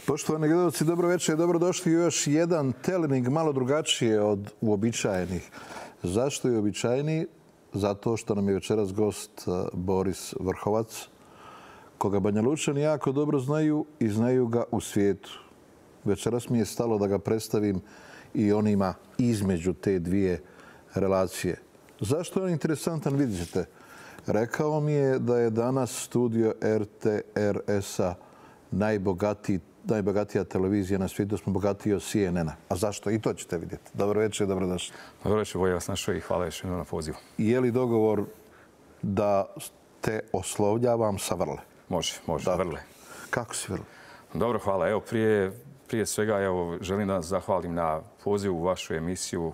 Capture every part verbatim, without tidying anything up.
Poštovani gledalci, dobro večer i dobrodošli u još jedan telening malo drugačije od uobičajenih. Zašto je uobičajeniji? Zato što nam je večeras gost Boris Vrhovac, koga Banjalučani jako dobro znaju i znaju ga u svijetu. Večeras mi je stalo da ga predstavim i onima između te dvije relacije. Zašto je on interesantan, vidjet ćete. Rekao mi je da je danas studio R T R S-a najbogatiji najbogatija televizija na svijetu, smo bogatiji od C N N-a. A zašto? I to ćete vidjeti. Dobro večer i dobrodošli. Dobro večer, Voja vas našao i hvala još jednom na pozivu. Je li dogovor da te oslovljavam sa Vrle? Može, može, da. Vrle. Kako si, Vrle? Dobro, hvala. Evo, prije, prije svega evo, želim da vas zahvalim na pozivu u vašu emisiju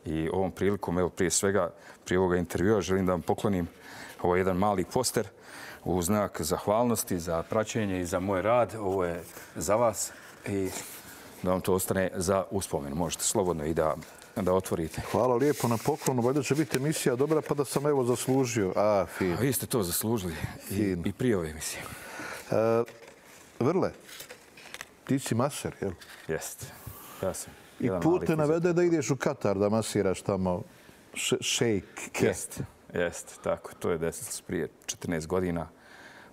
e, i ovom prilikom, evo, prije svega, prije ovoga intervjua, želim da vam poklonim ovo jedan mali poster u znak zahvalnosti za praćenje i za moj rad. Ovo je za vas i da vam to ostane za uspomenu. Možete slobodno i da, da otvorite. Hvala lijepo na poklonu. Valjda će biti emisija dobra, pa da sam evo zaslužio. A, fin. A vi ste to zaslužili i, i prije ove emisije. E, Vrle, ti si maser, jel? Jeste. Ja sam. I put te navede da ideš u Katar da masiraš tamo šejk. Jeste. Jeste, tako. To je desilo prije četrnaest godina.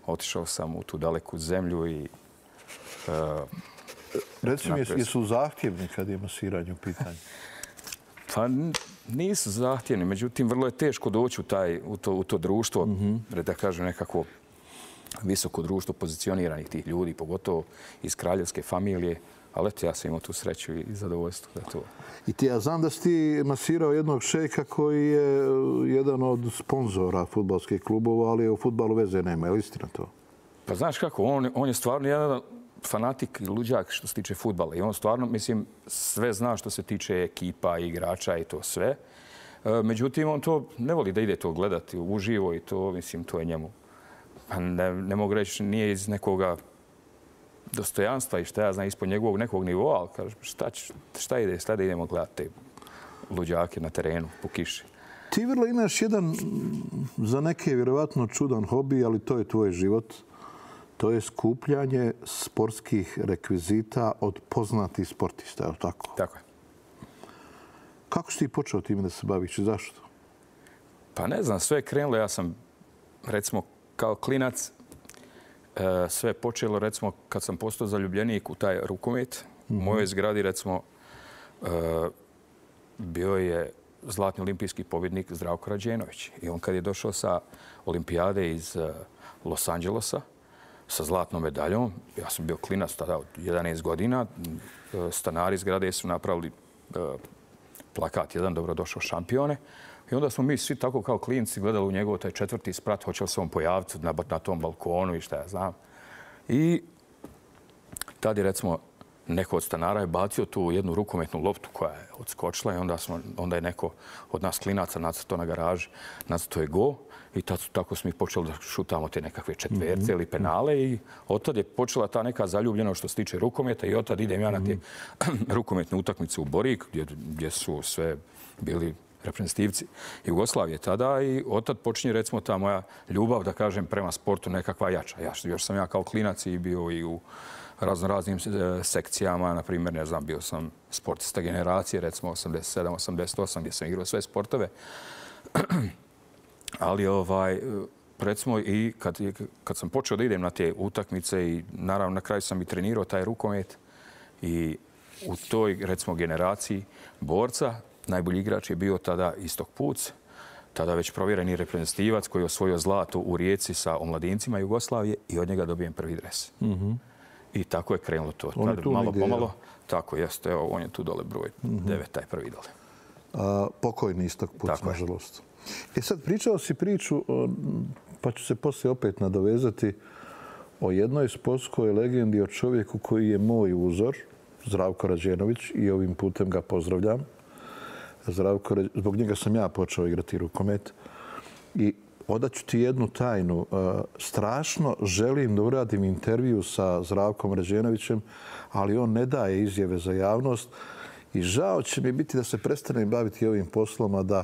Otišao sam u tu daleku zemlju i... Uh, Reci mi, jesu zahtjevni kad je masiranje u pitanju? Pa nisu zahtjevni, međutim, vrlo je teško doći u, taj, u, to, u to društvo, mm-hmm. da kažem nekako visoko društvo pozicioniranih tih ljudi, pogotovo iz kraljevske familije. Ali eto, ja sam imao tu sreću i zadovoljstvo da to... I ti, ja znam da si ti masirao jednog šejka koji je jedan od sponzora fudbalskih klubova, ali u fudbalu veze nema. Je li istina to? Pa znaš kako, on, on je stvarno jedan fanatik i luđak što se tiče fudbala. I on stvarno, mislim, sve zna što se tiče ekipa, igrača i to sve. Međutim, on to ne voli da ide to gledati uživo i to, mislim, to je njemu. Pa ne, ne mogu reći, nije iz nekoga dostojanstva i šta ja znam ispod njegovog nekog nivoa, ali kaže, šta, šta ide, šta da idemo gledati te luđake na terenu po kiši. Ti, Vrlo, imaš jedan za neke vjerovatno čudan hobi, ali to je tvoj život. To je skupljanje sportskih rekvizita od poznatih sportista, je li tako? Tako je. Kako si ti počeo time da se baviš i zašto? Pa ne znam, sve je krenulo. Ja sam, recimo, kao klinac, sve je počelo, recimo, kad sam postao zaljubljenik u taj rukomet. U mojoj zgradi, recimo, bio je zlatni olimpijski pobjednik Zdravko Rađenović. I on kad je došao sa olimpijade iz Los Angelesa sa zlatnom medaljom, ja sam bio klinac tada od jedanaest godina, stanari zgrade su napravili plakat jedan dobrodošao šampione. I onda smo mi svi tako kao klinci gledali u njegov taj četvrti sprat, hoće li se on pojaviti na, na tom balkonu i šta ja znam. I tad je, recimo, neko od stanara je bacio tu jednu rukometnu loptu koja je odskočila i onda, smo, onda je neko od nas klinaca nacrtao na garaži, nacrtao je go i tad, tako smo ih počeli da šutamo te nekakve četverce mm-hmm. ili penale i od tad je počela ta neka zaljubljena što se tiče rukometa i od tad idem ja na te rukometne utakmice u Borik gdje, gdje su sve bili reprezentativci Jugoslavije tada i od tad počinje, recimo, ta moja ljubav, da kažem, prema sportu nekakva jača. Ja, još sam ja kao klinac i bio i u raznoraznim sekcijama, na primjer, ne znam, bio sam sportista generacije, recimo osamdeset sedam osamdeset osam, gdje sam igrao sve sportove. Ali, ovaj, recimo, i kad, kad sam počeo da idem na te utakmice i naravno na kraju sam i trenirao taj rukomet i u toj, recimo, generaciji borca, najbolji igrač je bio tada Istok Puc, tada već provjereni reprezentativac koji je osvojio zlato u Rijeci sa omladincima Jugoslavije i od njega dobijem prvi dres. Mm-hmm. I tako je krenulo to. On je tu malo negdje, pomalo. Tako jeste. Evo, on je tu dole broj mm-hmm. devet, taj prvi dole. A, pokojni Istok Puc, nažalost. E sad, pričao si priču, pa ću se poslije opet nadovezati, o jednoj sportskoj legendi, o čovjeku koji je moj uzor, Zdravko Rađenović, i ovim putem ga pozdravljam. Zdravko, zbog njega sam ja počeo igrati rukomet. I odaću ti jednu tajnu. Strašno želim da uradim intervju sa Zdravkom Rađenovićem, ali on ne daje izjave za javnost. I žao će mi biti da se prestanem baviti ovim poslom, a da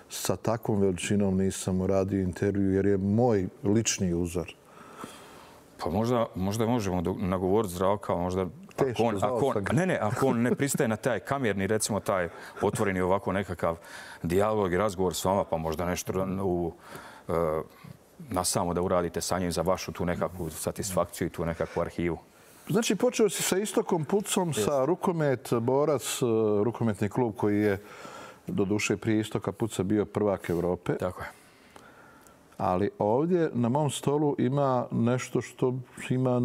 sa takvom veličinom nisam uradio intervju, jer je moj lični uzor. Pa možda, možda možemo nagovoriti Zdravka, možda... Teško, ako on, znao ako on, sam ga. ne, ne, ako on ne pristaje na taj kamerni, recimo taj otvoreni ovako nekakav dijalog i razgovor s vama, pa možda nešto u, uh, na samo da uradite sa njim za vašu tu nekakvu satisfakciju i tu nekakvu arhivu. Znači, počeo si sa Istokom Pucom, sa Rukomet, Borac, rukometni klub koji je do duše prije Istoka Puca bio prvak Evrope. Tako je. Ali ovdje na mom stolu ima nešto što ima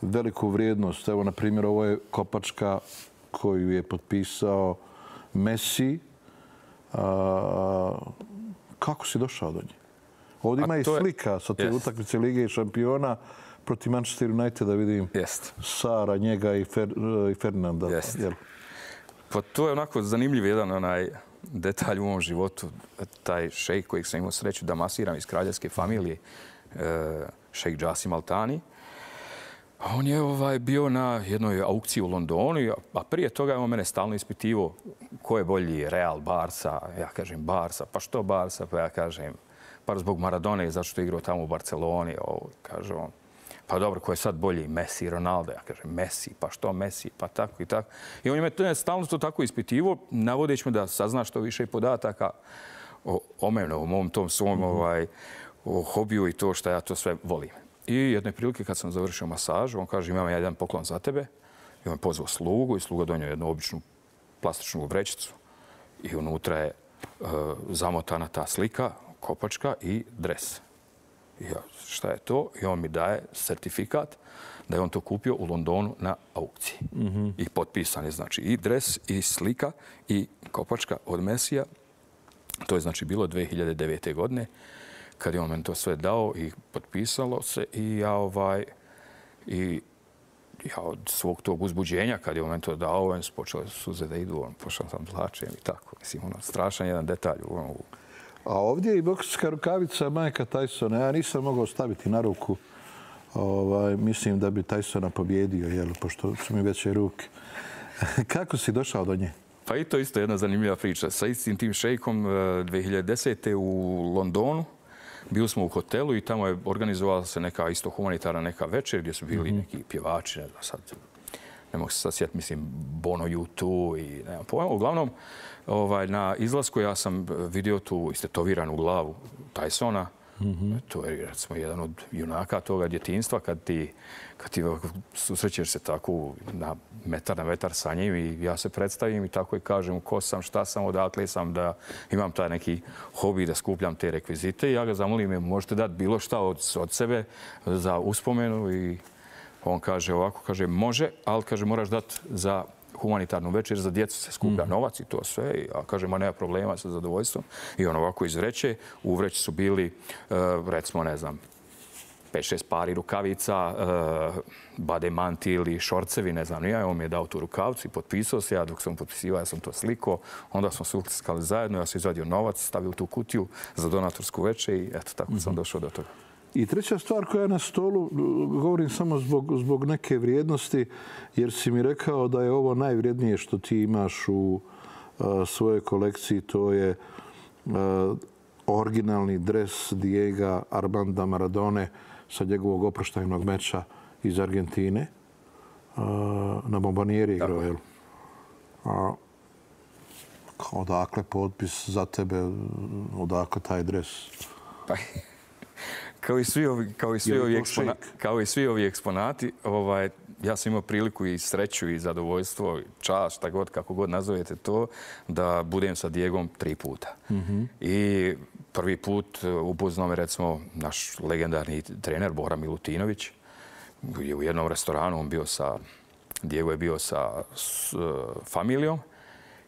veliku vrijednost. Evo, na primjer, ovo je kopačka koju je potpisao Messi. A, kako si došao do nje? Ovdje ima i slika sa te utakmice Lige šampiona protiv Manchester Uniteda, vidim. Jest. Sara, njega i, Fer, i Fernanda. Jest. Pa to je onako zanimljiv jedan onaj detalj u mom životu. Taj šejk kojeg sam imao sreću da masiram iz kraljevske familije, šejk Džasim Altani. On je ovaj, bio na jednoj aukciji u Londonu, a prije toga je on mene stalno ispitivao ko je bolji, Real, Barca. Ja kažem Barca, pa što Barca? Pa ja kažem, pa zbog Maradone, zato što je igrao tamo u Barceloni. Ovo, kaže on, pa dobro, ko je sad bolji, Messi, Ronaldo? Ja kažem, Messi, pa što Messi, pa tako i tako. I on je me stalno to tako ispitivo, navodeći me da sazna što više podataka o, o mene, o mom tom svom mm-hmm. ovaj, o hobiju i to što ja to sve volim. I jedne prilike kad sam završio masažu, on kaže, imam jedan poklon za tebe. I on je pozvao slugu i sluga donio jednu običnu plastičnu vrećicu. I unutra je uh, zamotana ta slika, kopačka i dres. I ja, šta je to? I on mi daje certifikat da je on to kupio u Londonu na aukciji. Mm-hmm. I potpisan je znači i dres, i slika, i kopačka od Messija. To je znači bilo dvije hiljade devete. godine kad je on meni to sve dao i potpisalo se. I ja, ovaj, i ja od svog tog uzbuđenja kad je on meni to dao, on počele suze da idu, on pošao sam plačem i tako. Mislim, ono, strašan jedan detalj u ovom. A ovdje je i bokserska rukavica Mike'a Tysona. Ja nisam mogao staviti na ruku. Ovaj, mislim da bi Tysona pobjedio, jel, pošto su mi veće ruke. Kako si došao do nje? Pa i to isto jedna zanimljiva priča. Sa istim tim šejkom dvije hiljade desete. u Londonu bili smo u hotelu i tamo je organizovala se neka isto humanitarna neka večer gdje su bili mm-hmm. neki pjevači, ne znam sad, ne mogu se sad sjetiti, mislim, Bono U dva i nemam pojma. Uglavnom, ovaj, na izlasku ja sam vidio tu istetoviranu glavu Tysona. Mm-hmm. To je, recimo, jedan od junaka toga djetinjstva kad ti, kad ti susrećeš se tako na metar na metar sa njim i ja se predstavim i tako i kažem ko sam, šta sam, odakle sam, da imam taj neki hobi da skupljam te rekvizite i ja ga zamolim, možete dati bilo šta od, od sebe za uspomenu i on kaže ovako, kaže može, ali kaže moraš dati za humanitarnu večer, za djecu se skuplja novac i to sve. A kaže, ma nema problema sa zadovoljstvom. I on ovako iz vreće. U vreći su bili, recimo, ne znam, pet šest pari rukavica, bademanti ili šorcevi, ne znam, ja. On mi je dao tu rukavcu i potpisao se. Ja dok sam potpisivao, ja sam to sliko. Onda smo se utiskali zajedno. Ja sam izvadio novac, stavio tu kutiju za donatorsku večer i eto, tako sam došao do toga. I treća stvar koja je na stolu, govorim samo zbog, zbog neke vrijednosti, jer si mi rekao da je ovo najvrijednije što ti imaš u uh, svojoj kolekciji, to je uh, originalni dres Diego Armanda Maradone sa njegovog oproštajnog meča iz Argentine. Uh, na Bombonieri igrao, jel? A, odakle potpis za tebe, odakle taj dres? Pa... Kao i svi ovi, kao i svi ovi, ekspona, kao i svi ovi eksponati, ovaj, ja sam imao priliku i sreću i zadovoljstvo, čast, šta god, kako god nazovete to, da budem sa Diegom tri puta. Mm-hmm. I prvi put upoznao me, recimo, naš legendarni trener Bora Milutinović. Je u jednom restoranu, on bio sa, Diego je bio sa s, uh, familijom.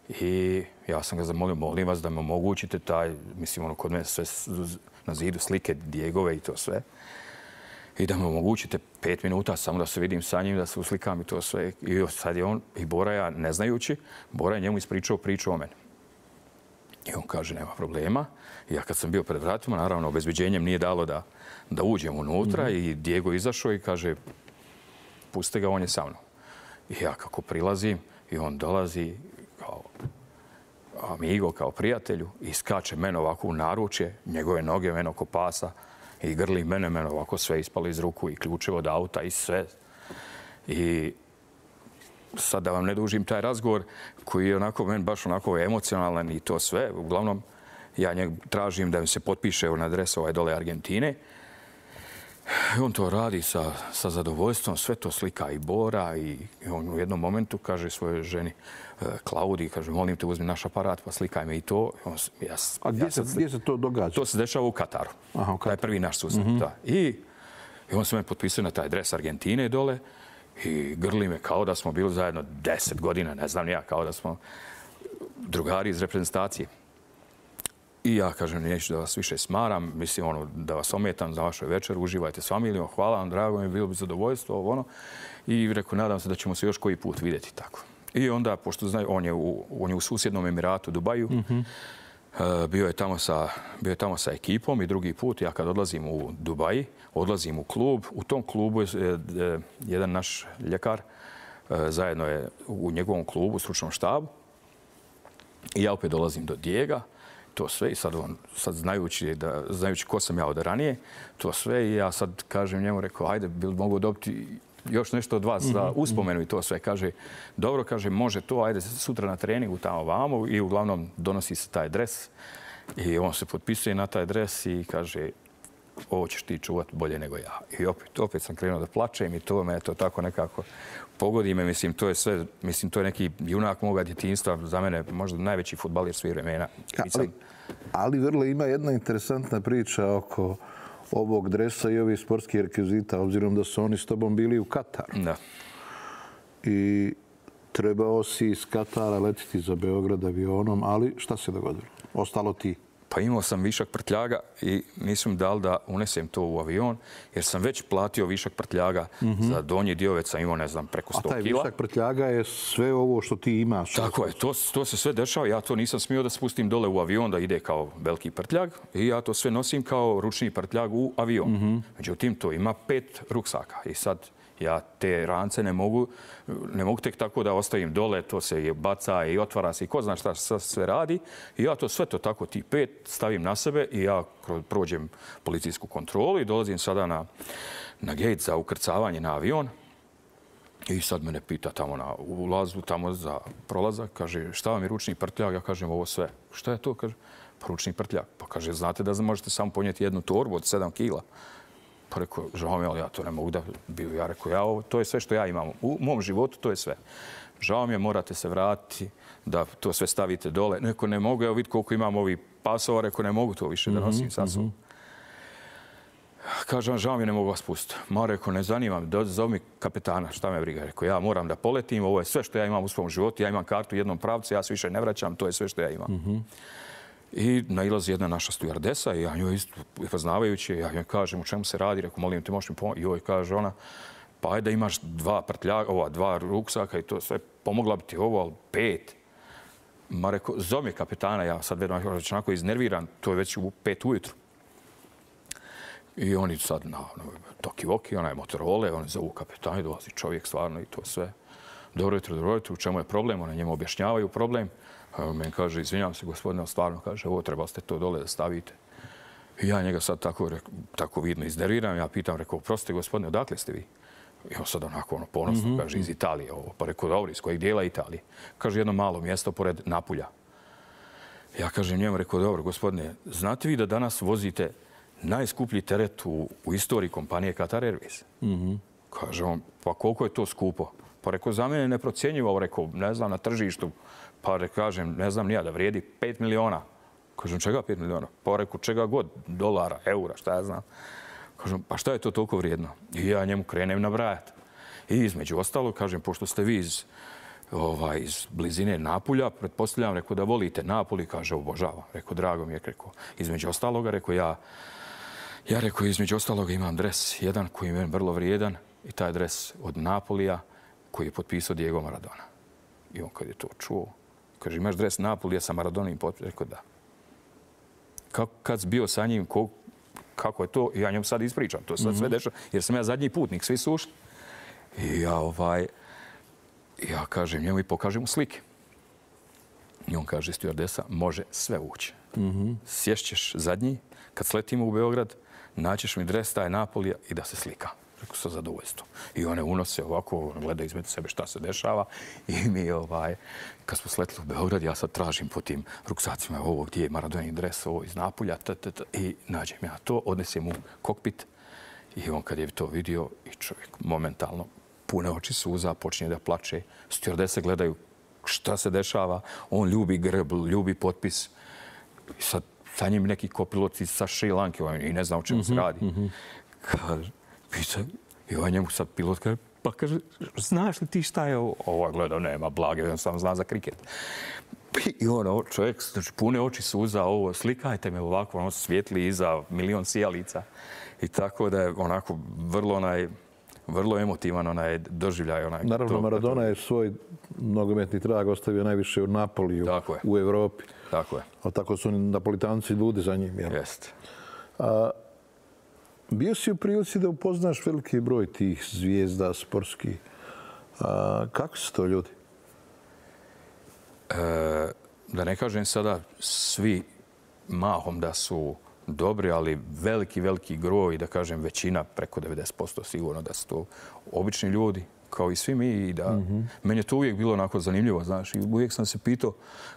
I ja sam ga zamolio, molim vas da me omogućite taj, mislim, ono, kod mene sve na zidu slike Diegove i to sve. I da me omogućite pet minuta samo da se vidim sa njim, da se uslikam i to sve. I sad je on, i Bora ja, ne znajući, Bora je njemu ispričao priču o meni. I on kaže, nema problema. I ja kad sam bio pred vratima, naravno, obezbeđenjem nije dalo da, da uđem unutra. Mm-hmm. I Diego izašao i kaže, puste ga, on je sa mnom. I ja kako prilazim, i on dolazi kao amigo, kao prijatelju, i skače mene ovako u naručje, njegove noge mene oko pasa. I grli mene, mene ovako sve ispalo iz ruku i ključevo od auta i sve. I sad da vam ne dužim taj razgovor koji je onako meni baš onako emocionalan i to sve. Uglavnom, ja njeg tražim da mi se potpiše na adres ovaj dole Argentine. I on to radi sa, sa zadovoljstvom, sve to slika i Bora i, i on u jednom momentu kaže svojoj ženi Klaudiji, kaže, molim te uzmi naš aparat pa slikaj me i to. On, ja, A gdje, ja se, gdje se to događa? To se dešava u Kataru. Aha, u Kataru. To je prvi naš susret. Mm-hmm. Da. I, I on se me potpisao na taj adres Argentine dole i grli me kao da smo bili zajedno deset godina, ne znam ja, kao da smo drugari iz reprezentacije. I ja kažem, neću da vas više smaram, mislim ono, da vas ometam za vašu večer, uživajte s familijom, hvala vam, drago mi, bilo bi zadovoljstvo, ovo ono. I rekao, nadam se da ćemo se još koji put vidjeti tako. I onda, pošto znaju, on je u, on je u susjednom Emiratu, Dubaju, mm-hmm. uh, bio je tamo sa, bio je tamo sa ekipom i drugi put, ja kad odlazim u Dubaji, odlazim u klub, u tom klubu je uh, jedan naš ljekar, uh, zajedno je u njegovom klubu, u stručnom štabu. I ja opet dolazim do Dijega, to sve i sad, on, sad znajući, da, znajući ko sam ja od ranije, to sve i ja sad kažem njemu, rekao, ajde, bi li mogu dobiti još nešto od vas za uspomenu i to sve. Kaže, dobro, kaže, može to, ajde sutra na treningu tamo vamo i uglavnom donosi se taj dres i on se potpisuje na taj dres i kaže, ovo ćeš ti čuvati bolje nego ja. I opet, opet sam krenuo da plačem i to me to tako nekako pogodi me. Mislim, to je sve, mislim, to je neki junak moga djetinjstva, za mene možda najveći fudbalir svih vremena. Ali, ali Vrle, ima jedna interesantna priča oko ovog dresa i ovih sportskih rekvizita, obzirom da su oni s tobom bili u Kataru. Da. I trebao si iz Katara letiti za Beograd avionom, ali šta se dogodilo? Ostalo ti? Pa imao sam višak prtljaga i nisam dal da unesem to u avion, jer sam već platio višak prtljaga mm-hmm. za donji dio, već sam imao, ne znam, preko sto kila. A taj višak prtljaga je sve ovo što ti imaš? Tako je, to, to se sve dešava. Ja to nisam smio da spustim dole u avion, da ide kao veliki prtljag i ja to sve nosim kao ručni prtljag u avion. Mm-hmm. Međutim, to ima pet ruksaka i sad ja te rance ne mogu, ne mogu tek tako da ostavim dole, to se je baca i otvara se i ko zna šta sve radi. I ja to sve to tako, ti pet, stavim na sebe i ja prođem policijsku kontrolu i dolazim sada na, na gate za ukrcavanje na avion. I sad mene pita tamo na ulazu, tamo za prolazak, kaže, šta vam je ručni prtljag? Ja kažem, ovo sve. Šta je to? Kaže, pa ručni prtljag. Pa kaže, znate da možete samo ponijeti jednu torbu od sedam kila. Pa rekao, žao mi, ali ja to ne mogu da bio. Ja rekao, ja, ovo, to je sve što ja imam. U mom životu to je sve. Žao mi je, morate se vratiti, da to sve stavite dole. Neko ne mogu, evo vidi koliko imam ovih pasova, rekao, ne mogu to više da nosim sa sobom. Kažem, žao mi je, ne mogu vas pustiti. Ma rekao, ne zanima me, zove mi kapetana, šta me briga. Rekao, ja moram da poletim, ovo je sve što ja imam u svom životu, ja imam kartu u jednom pravcu, ja se više ne vraćam, to je sve što ja imam. Mm-hmm. I nailazi jedna naša stujardesa i ja njoj isto poznavajući, ja njoj kažem u čemu se radi, rekao, molim te, možeš mi pomoći. I joj kaže ona, pa ajde da imaš dva prtljaga, ova, dva ruksaka i to sve, pomogla bi ti ovo, ali pet. Ma rekao, zove kapetana, ja sad vedno već onako iznerviran, to je već u pet ujutru. I oni sad na, na toki-voki, ona je Motorola, oni zovu kapetana i dolazi čovjek stvarno i to sve. Dobro jutro, dobro jutro, u čemu je problem? Ona njemu objašnjavaju problem. Meni kaže, izvinjam se, gospodine, stvarno, kaže, ovo trebali ste to dole da stavite. I ja njega sad tako, tako vidno iznerviram. Ja pitam, rekao, prostite, gospodine, odakle ste vi? I on sad onako ono, ponosno, mm-hmm. kaže, iz Italije ovo. Pa rekao, dobro, iz kojeg dijela Italije? Kaže, jedno malo mjesto pored Napulja. Ja kažem njemu, rekao, dobro, gospodine, znate vi da danas vozite najskuplji teret u, u istoriji kompanije Qatar Airways? Mm-hmm. Kaže on, pa koliko je to skupo? Pa rekao, za mene neprocjenjivo, rekao, ne znam, na tržištu. Pa rekao, kažem, ne znam nija, da vrijedi pet miliona. Kažem, čega pet miliona? Pa rekao, čega god, dolara, eura, šta ja znam. Kažem, pa šta je to toliko vrijedno? I ja njemu krenem nabrajati. I između ostalo, kažem, pošto ste vi iz, ovaj, iz blizine Napulja, pretpostavljam, rekao, da volite Napulj, kaže, obožavam. Rekao, drago mi je, rekao, između ostaloga, rekao, ja, ja rekao, između ostaloga imam dres, jedan koji je vrlo vrijedan, i taj dres od Napolija, koji je potpisao Diego Maradona. I on kad je to čuo, kaže, imaš dres Napolija sa Maradonim potpisom? Rekao, da. Kako, kad si bio sa njim, ko, kako je to? Ja njom sad ispričam, to sad mm-hmm. sve dešava, jer sam ja zadnji putnik, svi su ušli. I ja, ovaj, ja kažem njemu i pokažem mu slike. I on kaže, stjuardesa, može sve ući. Mm-hmm. Sješćeš zadnji, kad sletimo u Beograd, naćeš mi dres taj Napolija i da se slika. Rekao, sa zadovoljstvom. I one unose ovako, gleda između sebe šta se dešava i mi, ovaj, kad smo sletili u Beograd, ja sad tražim po tim ruksacima ovo gdje je Maradonin dres, ovo iz Napolja, t, t, t, i nađem ja to, odnesem u kokpit i on kad je to vidio i čovjek momentalno pune oči suza, počinje da plače, stjordese gledaju šta se dešava, on ljubi grb, ljubi potpis i sad sa njim neki kopilot sa Šri Lanke i ne zna o čemu se radi. Kad pita, i ovaj njemu sad pilot kaže, pa kaže, znaš li ti šta je ovo? Ovo gleda, nema blage, on sam zna za kriket. I ono, čovjek, znači, pune oči suza, ovo, slikajte me ovako, ono svijetli iza milion sijalica. I tako da je onako vrlo onaj, vrlo emotivan onaj doživljaj. Onaj, Naravno, to, Maradona to... je svoj nogometni trag ostavio najviše u Napoliju, u Evropi. Tako je. A tako su Napolitanci ljudi za njim. Jel? Jeste. A, bio si u prilici da upoznaš veliki broj tih zvijezda sportskih. A, kako su to ljudi? E, da ne kažem sada svi mahom da su dobri, ali veliki, veliki groj, da kažem većina, preko devedeset posto sigurno da su to obični ljudi, kao i svi mi. I da, mm-hmm. Meni je to uvijek bilo onako zanimljivo, znaš, i uvijek sam se pitao,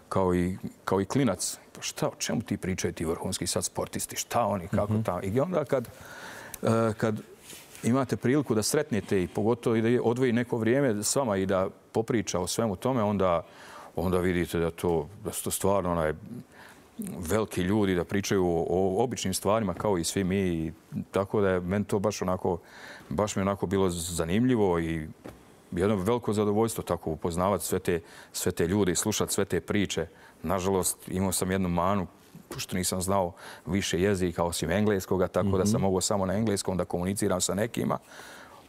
kao i, kao i klinac, šta, o čemu ti pričaju ti vrhunski sad sportisti, šta oni, kako mm-hmm. tamo. I onda kad, kad imate priliku da sretnete i pogotovo i da odvoji neko vrijeme s vama i da popriča o svemu tome, onda, onda vidite da, to, da su to stvarno onaj, veliki ljudi da pričaju o običnim stvarima kao i svi mi. Tako da je meni to baš onako, baš mi onako bilo zanimljivo i jedno veliko zadovoljstvo tako upoznavati sve te, sve te ljude i slušati sve te priče. Nažalost, imao sam jednu manu što nisam znao više jezika osim engleskoga, tako mm-hmm. da sam mogao samo na engleskom da komuniciram sa nekima.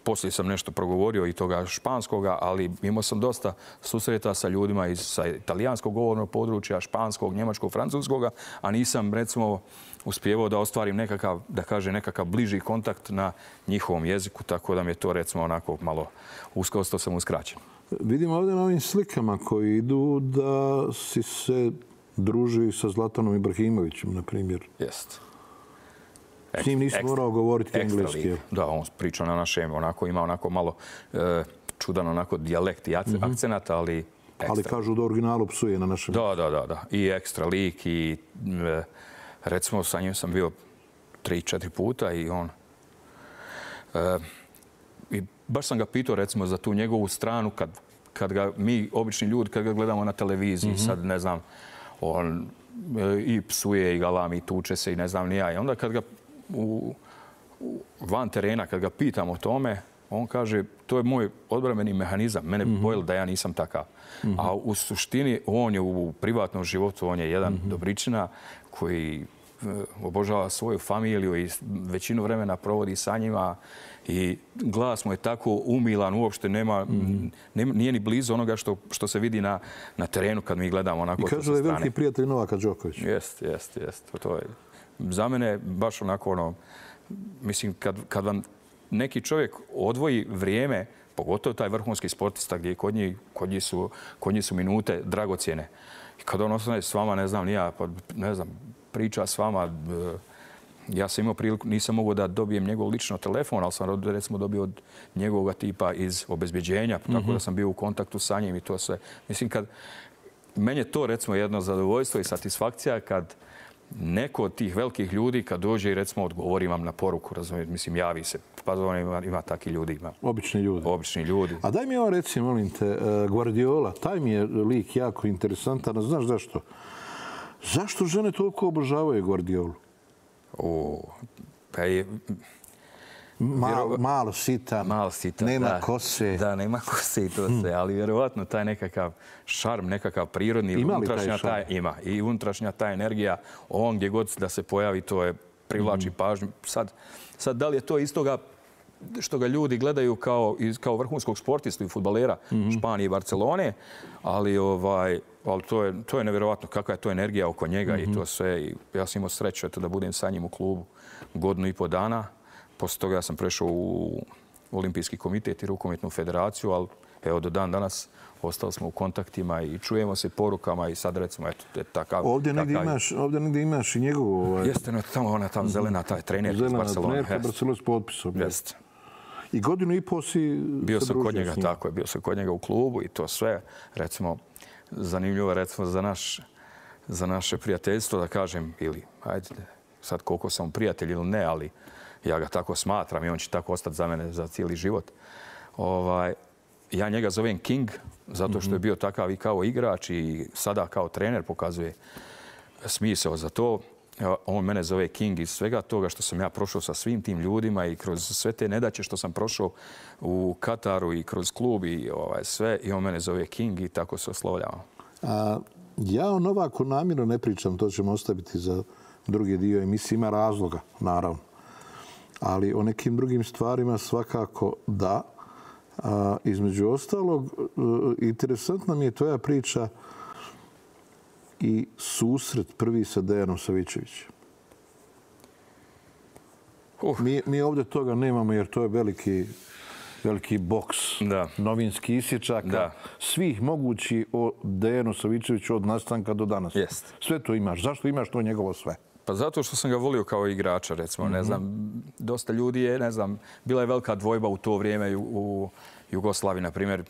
Poslije sam nešto progovorio i toga španskoga, ali imao sam dosta susreta sa ljudima iz sa italijanskog govornog područja, španskog, njemačkog, francuskoga, a nisam, recimo, uspjevao da ostvarim nekakav, da kaže, nekakav bliži kontakt na njihovom jeziku, tako da mi je to, recimo, onako malo uskosto sam uskraćen. Vidimo ovdje na ovim slikama koji idu da si se druži sa Zlatanom Ibrahimovićem, na primjer. Jeste. S njim nisam morao govoriti engleski. Da, on priča na našem, onako ima onako malo e, čudan onako dijalekt i mm-hmm. akcenat, ali ekstra. Ali kažu da originalu psuje na našem. Da, da, da, da. I ekstra lik i e, recimo sa njim sam bio tri, četiri puta i on... E, i baš sam ga pitao recimo za tu njegovu stranu kad, kad ga mi, obični ljudi, kad ga gledamo na televiziji, mm-hmm. sad ne znam, on e, i psuje i galami i tuče se i ne znam ni ja. I onda kad ga U, u, van terena, kad ga pitam o tome, on kaže, to je moj odbrambeni mehanizam. Mene mm-hmm. bojilo da ja nisam takav. Mm-hmm. A u suštini, on je u privatnom životu, on je jedan mm-hmm. dobričina koji obožava svoju familiju i većinu vremena provodi sa njima i glas mu je tako umilan, uopšte nema, mm-hmm. nema nije ni blizu onoga što, što se vidi na, na terenu kad mi gledamo onako. I kaže da je veliki prijatelj Novaka Đokovića. Jeste, jeste, jeste. To je za mene baš onako ono, mislim, kad, kad vam neki čovjek odvoji vrijeme, pogotovo taj vrhunski sportista gdje kod njih, kod njih, su, kod njih su minute dragocjene. I kad on ostane s vama, ne znam, nija, pa, ne znam, priča s vama, ja sam imao priliku, nisam mogao da dobijem njegov lično telefon, ali sam recimo dobio od njegovog tipa iz obezbeđenja, tako mm-hmm. da sam bio u kontaktu sa njim i to sve. Mislim, kad, meni je to recimo jedno zadovoljstvo i satisfakcija kad neko od tih velikih ljudi kad dođe i recimo odgovori vam na poruku, razumijete, mislim, javi se, pa on ima, ima takvi ljudi. Ima. Obični ljudi. Obični ljudi. A daj mi ovo reci, molim te, Guardiola, taj mi je lik jako interesantan, znaš zašto? Zašto žene toliko obožavaju Guardiolu? O, pa je... Malo, malo sitan, malo sitan, nema da, kose. Da, nema kose i to sve, ali vjerovatno taj nekakav šarm, nekakav prirodni, ima unutrašnja taj taj, ima. I unutrašnja ta energija, on gdje god da se pojavi, to je privlači mm. pažnju. Sad, sad, da li je to istoga što ga ljudi gledaju kao, kao vrhunskog sportistu i fudbalera mm-hmm. Španije i Barcelone, ali, ovaj, ali to, je, to je nevjerovatno kakva je to energija oko njega mm-hmm. i to sve. I ja sam imao sreću eto, da budem sa njim u klubu godinu i po dana. Poslije toga ja sam prešao u Olimpijski komitet i rukometnu federaciju, ali evo do dan danas ostali smo u kontaktima i čujemo se porukama i sad recimo, eto, takav... Ovdje negdje imaš, ovdje negdje imaš i njegovu... Ovaj... Jeste, no, tamo ona tam zelena, taj trener iz Barcelone. Zelena trenerka, Barcelona s potpisom. Jeste. I godinu i pol si... Bio sam kod njega, tako je, bio sam kod njega u klubu i to sve, recimo, zanimljivo, recimo, za naš, za naše prijateljstvo, da kažem, ili, ajde, sad koliko sam prijatelj ili ne, ali ja ga tako smatram i on će tako ostati za mene za cijeli život. Ovaj, ja njega zovem King, zato što je bio takav i kao igrač i sada kao trener pokazuje smisao za to. On mene zove King iz svega toga što sam ja prošao sa svim tim ljudima i kroz sve te nedaće što sam prošao u Kataru i kroz klub i ovaj, sve. I on mene zove King i tako se oslovljava. A, ja o Novaku namjerno ne pričam, to ćemo ostaviti za drugi dio emisije. Ima razloga, naravno. Ali o nekim drugim stvarima svakako da. A, između ostalog, interesantna mi je tvoja priča i susret prvi sa Dejanom Savićevićem. Uh. Mi, mi ovdje toga nemamo jer to je veliki, veliki boks da. novinski isječaka da. svih mogući o Dejanu Savićeviću od nastanka do danas. Jest. Sve to imaš. Zašto imaš to njegovo sve? Pa zato što sam ga volio kao igrača, recimo. Mm-hmm. Ne znam, dosta ljudi je, ne znam, bila je velika dvojba u to vrijeme u, u Jugoslaviji, na primjer.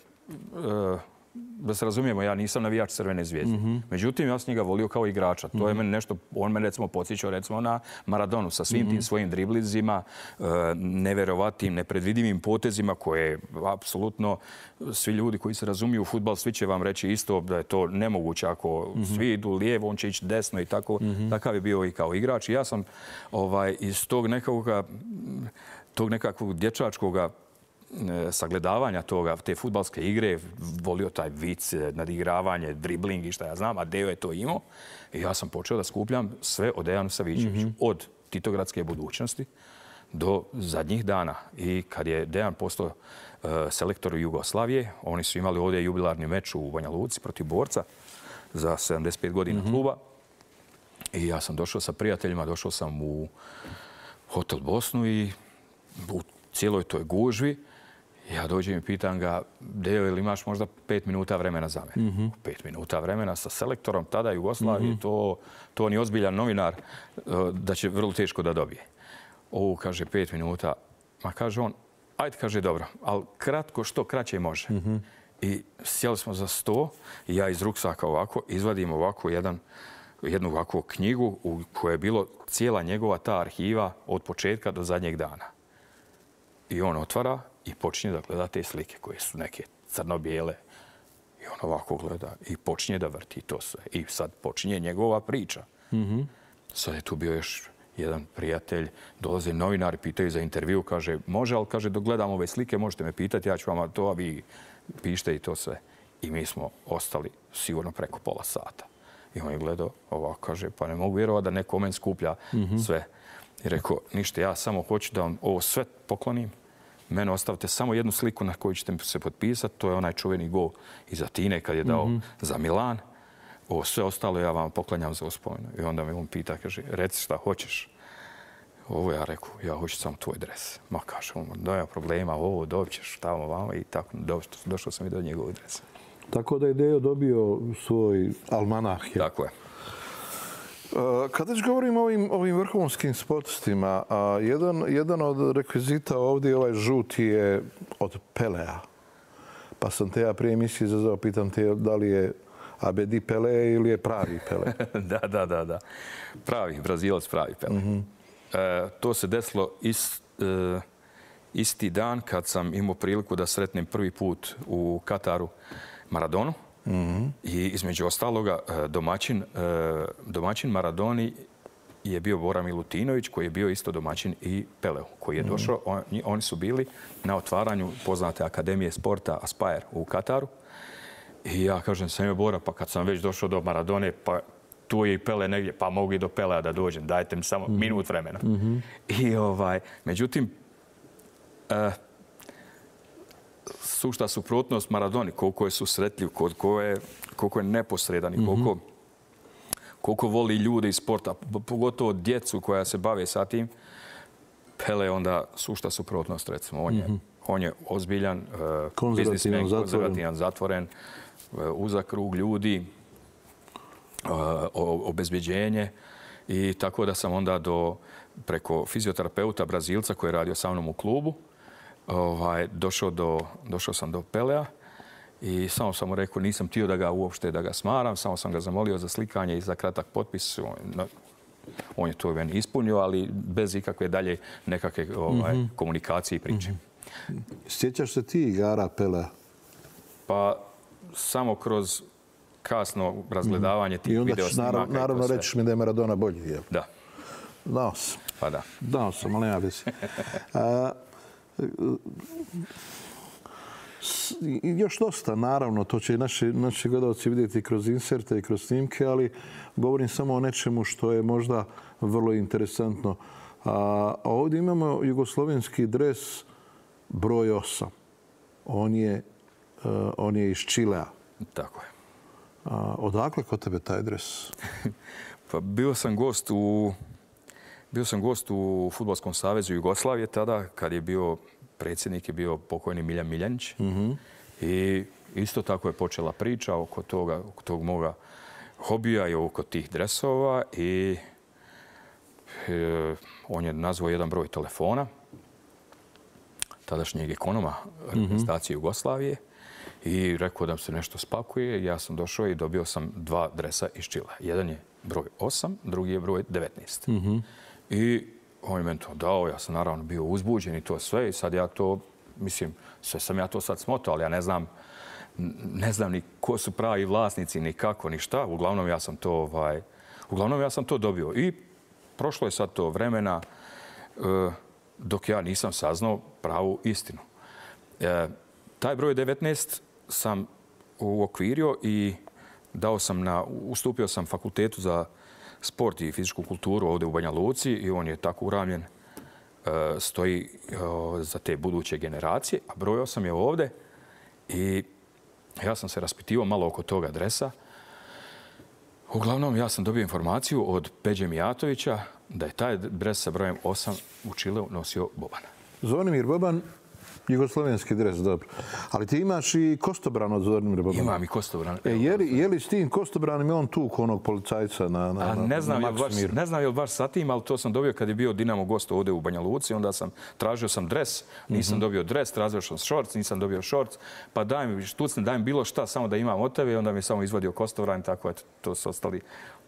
Uh, da se razumijemo, ja nisam navijač Crvene zvijezde. Mm-hmm. Međutim, ja sam njega volio kao igrača. To je meni nešto, on me recimo podsjećao recimo na Maradonu sa svim mm-hmm. tim svojim driblizima, nevjerovatnim, nepredvidivim potezima koje apsolutno svi ljudi koji se razumiju u fudbal, svi će vam reći isto da je to nemoguće. Ako mm-hmm. svi idu lijevo, on će ići desno i tako. Mm-hmm. Takav je bio i kao igrač. I ja sam ovaj, iz tog nekakvog, tog nekakvog dječačkoga sagledavanja toga, te fudbalske igre, volio taj vic, nadigravanje, dribling i šta ja znam, a Dejo je to imao. I ja sam počeo da skupljam sve o Dejanu Savićeviću. Mm-hmm. Od Titogradske budućnosti do zadnjih dana. I kad je Dejan postao uh, selektor Jugoslavije, oni su imali ovdje jubilarni meč u Banja Luci protiv Borca za sedamdeset pet godina mm-hmm. kluba. I ja sam došao sa prijateljima, došao sam u Hotel Bosnu i u cijeloj toj gužvi ja dođem i pitam ga, Dejo, ili imaš možda pet minuta vremena za mene? Mm-hmm. Pet minuta vremena sa selektorom tada Jugoslavije, mm-hmm. to, to ni ozbiljan novinar da će vrlo teško da dobije. Ovo, kaže, pet minuta. Ma kaže on, ajde, kaže, dobro, ali kratko, što kraće može. Mm-hmm. I sjeli smo za sto i ja iz ruksaka ovako izvadim ovako jedan, jednu ovakvu knjigu u kojoj je bilo cijela njegova ta arhiva od početka do zadnjeg dana. I on otvara i počinje da gleda te slike koje su neke crno-bijele. I on ovako gleda i počinje da vrti to sve. I sad počinje njegova priča. Mm-hmm. Sad je tu bio još jedan prijatelj, dolaze novinari, pitaju za intervju, kaže, može, ali kaže, dok gledam ove slike, možete me pitati, ja ću vam to, a vi pišite i to sve. I mi smo ostali sigurno preko pola sata. I on je gledao ovako, kaže, pa ne mogu vjerovati da neko men skuplja mm-hmm. sve. I rekao, ništa, ja samo hoću da vam ovo sve poklonim. Mene ostavite samo jednu sliku na koju ćete se potpisati. To je onaj čuveni gol iz Atine kad je dao mm-hmm. za Milan. Ovo sve ostalo ja vam poklanjam za uspomenu. I onda me on pita, kaže, reci šta hoćeš. Ovo ja rekao, ja hoću samo tvoj dres. Ma kaže, on, nema problema, ovo dobit ćeš tamo vamo i tako došao sam i do njegovog dresa. Tako da je Dejo dobio svoj almanah. Je. Tako je. Kada već govorimo o ovim, ovim vrhunskim sportistima, jedan, jedan od rekvizita ovdje, ovaj žuti, je od Pelea. Pa sam te ja prije emisije izazvao, pitam te da li je Abedi Pele ili je pravi Pele? da, da, da, da. Pravi, Brazilac pravi Pele. Mm-hmm. E, to se desilo ist, e, isti dan kad sam imao priliku da sretnem prvi put u Kataru Maradonu. Mm-hmm. I između ostaloga domaćin, domaćin Maradoni je bio Bora Milutinović, koji je bio isto domaćin i Peleu, koji je došao. On, oni su bili na otvaranju poznate Akademije sporta Aspire u Kataru. I ja kažem, sam je Bora, pa kad sam već došao do Maradone, pa tu je i Pele negdje, pa mogu i do Pelea da dođem, dajte mi samo mm-hmm. minut vremena. Mm-hmm. I ovaj, međutim, uh, sušta suprotnost Maradoni, koliko je susretljiv, koliko je, koliko je neposredan i koliko, mm-hmm. koliko voli ljude iz sporta, pogotovo djecu koja se bave sa tim, Pele je onda sušta suprotnost, recimo. On je, mm-hmm. on je ozbiljan, konzervativan, biznismen, zatvoren. konzervativan, zatvoren, uzak krug ljudi, obezbeđenje. I tako da sam onda do, preko fizioterapeuta Brazilca koji je radio sa mnom u klubu, ovaj, došao, do, došao sam do Pelea i samo sam mu rekao, nisam htio da ga uopšte da ga smaram, samo sam ga zamolio za slikanje i za kratak potpis. On, on je to meni ispunio, ali bez ikakve dalje nekakve ovaj, mm-hmm. komunikacije i priče. Mm-hmm. Sjećaš se ti igara Pelea? Pa samo kroz kasno razgledavanje tih video snimaka. I onda ćeš naravno, naravno reći mi da je Maradona bolji, jel? Da. Znao sam. Pa da. Znao sam, ali nema veze. A, još dosta, naravno, to će i naši, naši gledalci vidjeti kroz inserte i kroz snimke, ali govorim samo o nečemu što je možda vrlo interesantno. A, ovdje imamo jugoslovenski dres broj osam. On je, uh, on je iz Čilea. Tako je. A, odakle kod tebe taj dres? Pa bio sam gost u bio sam gost u Fudbalskom savezu Jugoslavije tada kad je bio predsjednik je bio pokojni Miljan Miljanić. Mm-hmm. I isto tako je počela priča oko toga, oko tog moga hobija i oko tih dresova i e, on je nazvao jedan broj telefona tadašnjeg ekonoma reprezentacije mm-hmm. Jugoslavije i rekao da se nešto spakuje. Ja sam došao i dobio sam dva dresa iz Čilea. Jedan je broj osam, drugi je broj devetnaest. Mm-hmm. I on je meni to dao, ja sam naravno bio uzbuđen i to sve i sad ja to, mislim, sve sam ja to sad smotao, ali ja ne znam, ne znam ni ko su pravi vlasnici, ni kako, ni šta. Uglavnom ja sam to, ovaj, uglavnom ja sam to dobio. I prošlo je sad to vremena uh, dok ja nisam saznao pravu istinu. E, taj broj devetnaest sam uokvirio i dao sam na, ustupio sam fakultetu za sport i fizičku kulturu ovdje u Banja Luci i on je tako uravljen, stoji za te buduće generacije, a broj osam je ovdje i ja sam se raspitivao malo oko toga dresa. Uglavnom, ja sam dobio informaciju od Peđe Mijatovića da je taj dres sa brojem osam u Čileu nosio Boban. Zvonimir Boban, jugoslovenski dres, dobro. Ali ti imaš i kostobran od Zvonimira Bobana. Imam i kostobran. E, je, li, je li s tim kostobranom je on tuk onog policajca na, na, A ne znam, na je baš, ne znam je li baš sa tim, ali to sam dobio kad je bio Dinamo gost ovdje u Banja Luci. Onda sam tražio sam dres, nisam mm-hmm. dobio dres, tražio sam šorc, nisam dobio šorc. Pa daj mi, štucni, daj mi bilo šta, samo da imam od tebe. I onda mi je samo izvadio kostobran, tako je to su ostali,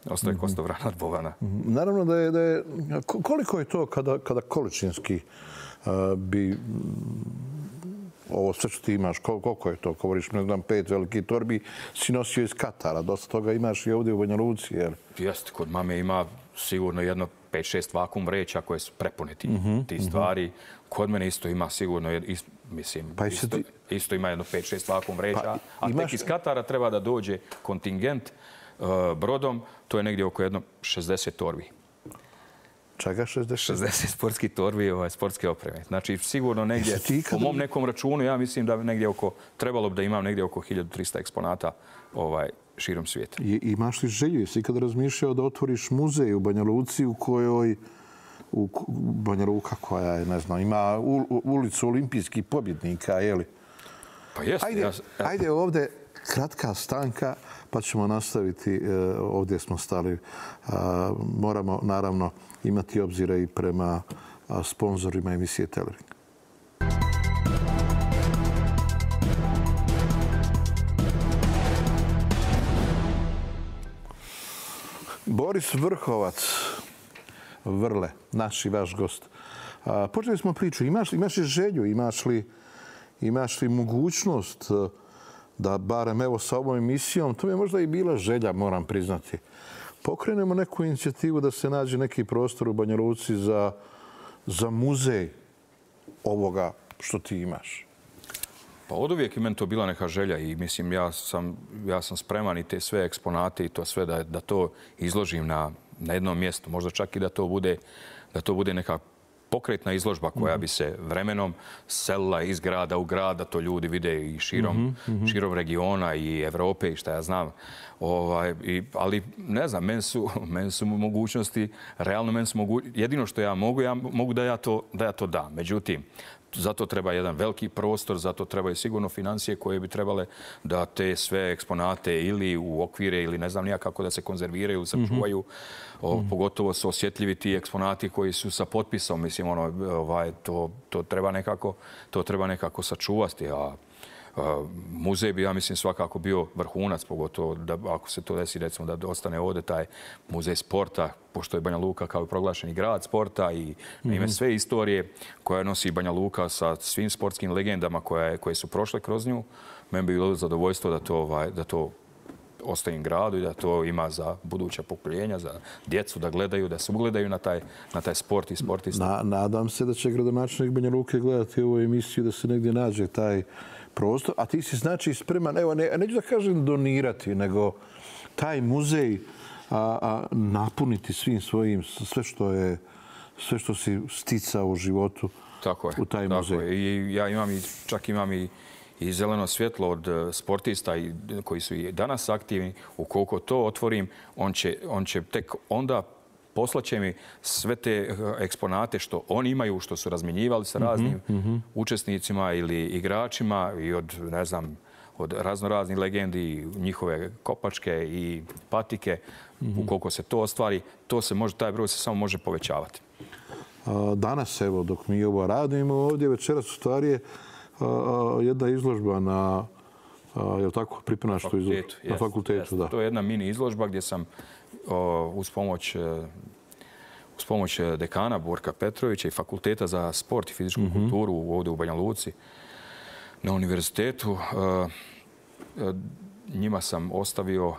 ostaje mm-hmm. kostobran od Bobana. Mm-hmm. Naravno da je, da je, koliko je to kada, kada količinski uh, bi... Ovo sve što ti imaš, koliko je to? Govoriš, ne znam, pet velikih torbi si nosio iz Katara. Dosta toga imaš i ovdje u Banja Luci, jer? Jeste, kod mame ima sigurno jedno pet šest vakum vreća koje su prepune ti, mm-hmm, ti stvari. Kod mene isto ima sigurno, ist, mislim, pa isto, ti... isto ima jedno pet šest vakum vreća. Pa, a imaš... tek iz Katara treba da dođe kontingent uh, brodom. To je negdje oko jedno šezdeset torbi. Čega šezdeset? šezdeset sportskih torbi, ovaj, sportske opreme. Znači, sigurno negdje, po mom nekom računu, ja mislim da negdje oko, trebalo bi da imam negdje oko hiljadu trista eksponata ovaj, širom svijeta. I, imaš li želju? Jesi ikada razmišljao da otvoriš muzej u Banja Luci u kojoj, u Banja Luka koja je, ne znam, ima u, ulicu olimpijskih pobjednika, je li? Pa jeste. Ajde, ja... ajde ovdje kratka stanka, pa ćemo nastaviti. Ovdje smo stali. Moramo, naravno, imati obzira i prema sponzorima emisije Telering. Boris Vrhovac, Vrle, naš i vaš gost. Počeli smo priču. Imaš, imaš li želju, imaš li, imaš li mogućnost da barem evo sa ovom emisijom, to mi je možda i bila želja, moram priznati, pokrenemo neku inicijativu da se nađe neki prostor u Banja Luci za, za muzej ovoga što ti imaš? Pa od uvijek je meni to bila neka želja i mislim ja sam, ja sam spreman i te sve eksponate i to sve da, da to izložim na, na jednom mjestu. Možda čak i da to bude, da to bude neka pokretna izložba koja bi se vremenom selila iz grada u grad, da to ljudi vide i širom, mm-hmm. širom regiona i Evrope i šta ja znam. Ovaj, i, ali ne znam, meni su, meni su mogućnosti, realno meni su mogućnosti, jedino što ja mogu, ja mogu da ja to, da ja to dam. Međutim, zato treba jedan veliki prostor, zato trebaju sigurno financije koje bi trebale da te sve eksponate ili u okvire ili ne znam nija kako da se konzerviraju ili sačuvaju. Mm-hmm. o, pogotovo su osjetljivi ti eksponati koji su sa potpisom. Mislim, ono, ovaj, to, to, treba nekako, to treba nekako sačuvati. A, a muzej bi, ja mislim, svakako bio vrhunac, pogotovo da, ako se to desi, recimo, da ostane ovdje taj muzej sporta, pošto je Banja Luka kao proglašeni grad sporta i na ime sve istorije koja nosi Banja Luka sa svim sportskim legendama koje, koje su prošle kroz nju. Meni bi bilo zadovoljstvo da to, ovaj, da to ostaje gradu i da to ima za buduća pokoljenja, za djecu da gledaju, da se ugledaju na taj, na taj sport i sportista. Na, nadam se da će gradonačelnik Banja Luke gledati ovu emisiju, da se negdje nađe taj prostor. A ti si znači spreman, evo, ne, neću da kažem donirati, nego taj muzej a, a, napuniti svim svojim, sve što je, sve što si sticao u životu tako je, u taj tako muzej. Je. I ja imam i, čak imam i, i zeleno svjetlo od sportista i, koji su i danas aktivni. Ukoliko to otvorim, on će, on će tek onda poslaće mi sve te eksponate što oni imaju, što su razmjenjivali sa raznim mm-hmm. učesnicima ili igračima i od, ne znam, od raznoraznih legendi, njihove kopačke i patike. Mm-hmm. Ukoliko se to ostvari, to se može, taj broj se samo može povećavati. Danas, evo, dok mi ovo radimo ovdje, večeras u stvari je jedna izložba na, je li tako, pripremaš tu izložbu? Na fakultetu, da. To je jedna mini izložba gdje sam uz pomoć uz pomoć dekana Borka Petrovića i Fakulteta za sport i fizičku mm-hmm. kulturu ovdje u Banja Luci na univerzitetu. Njima sam ostavio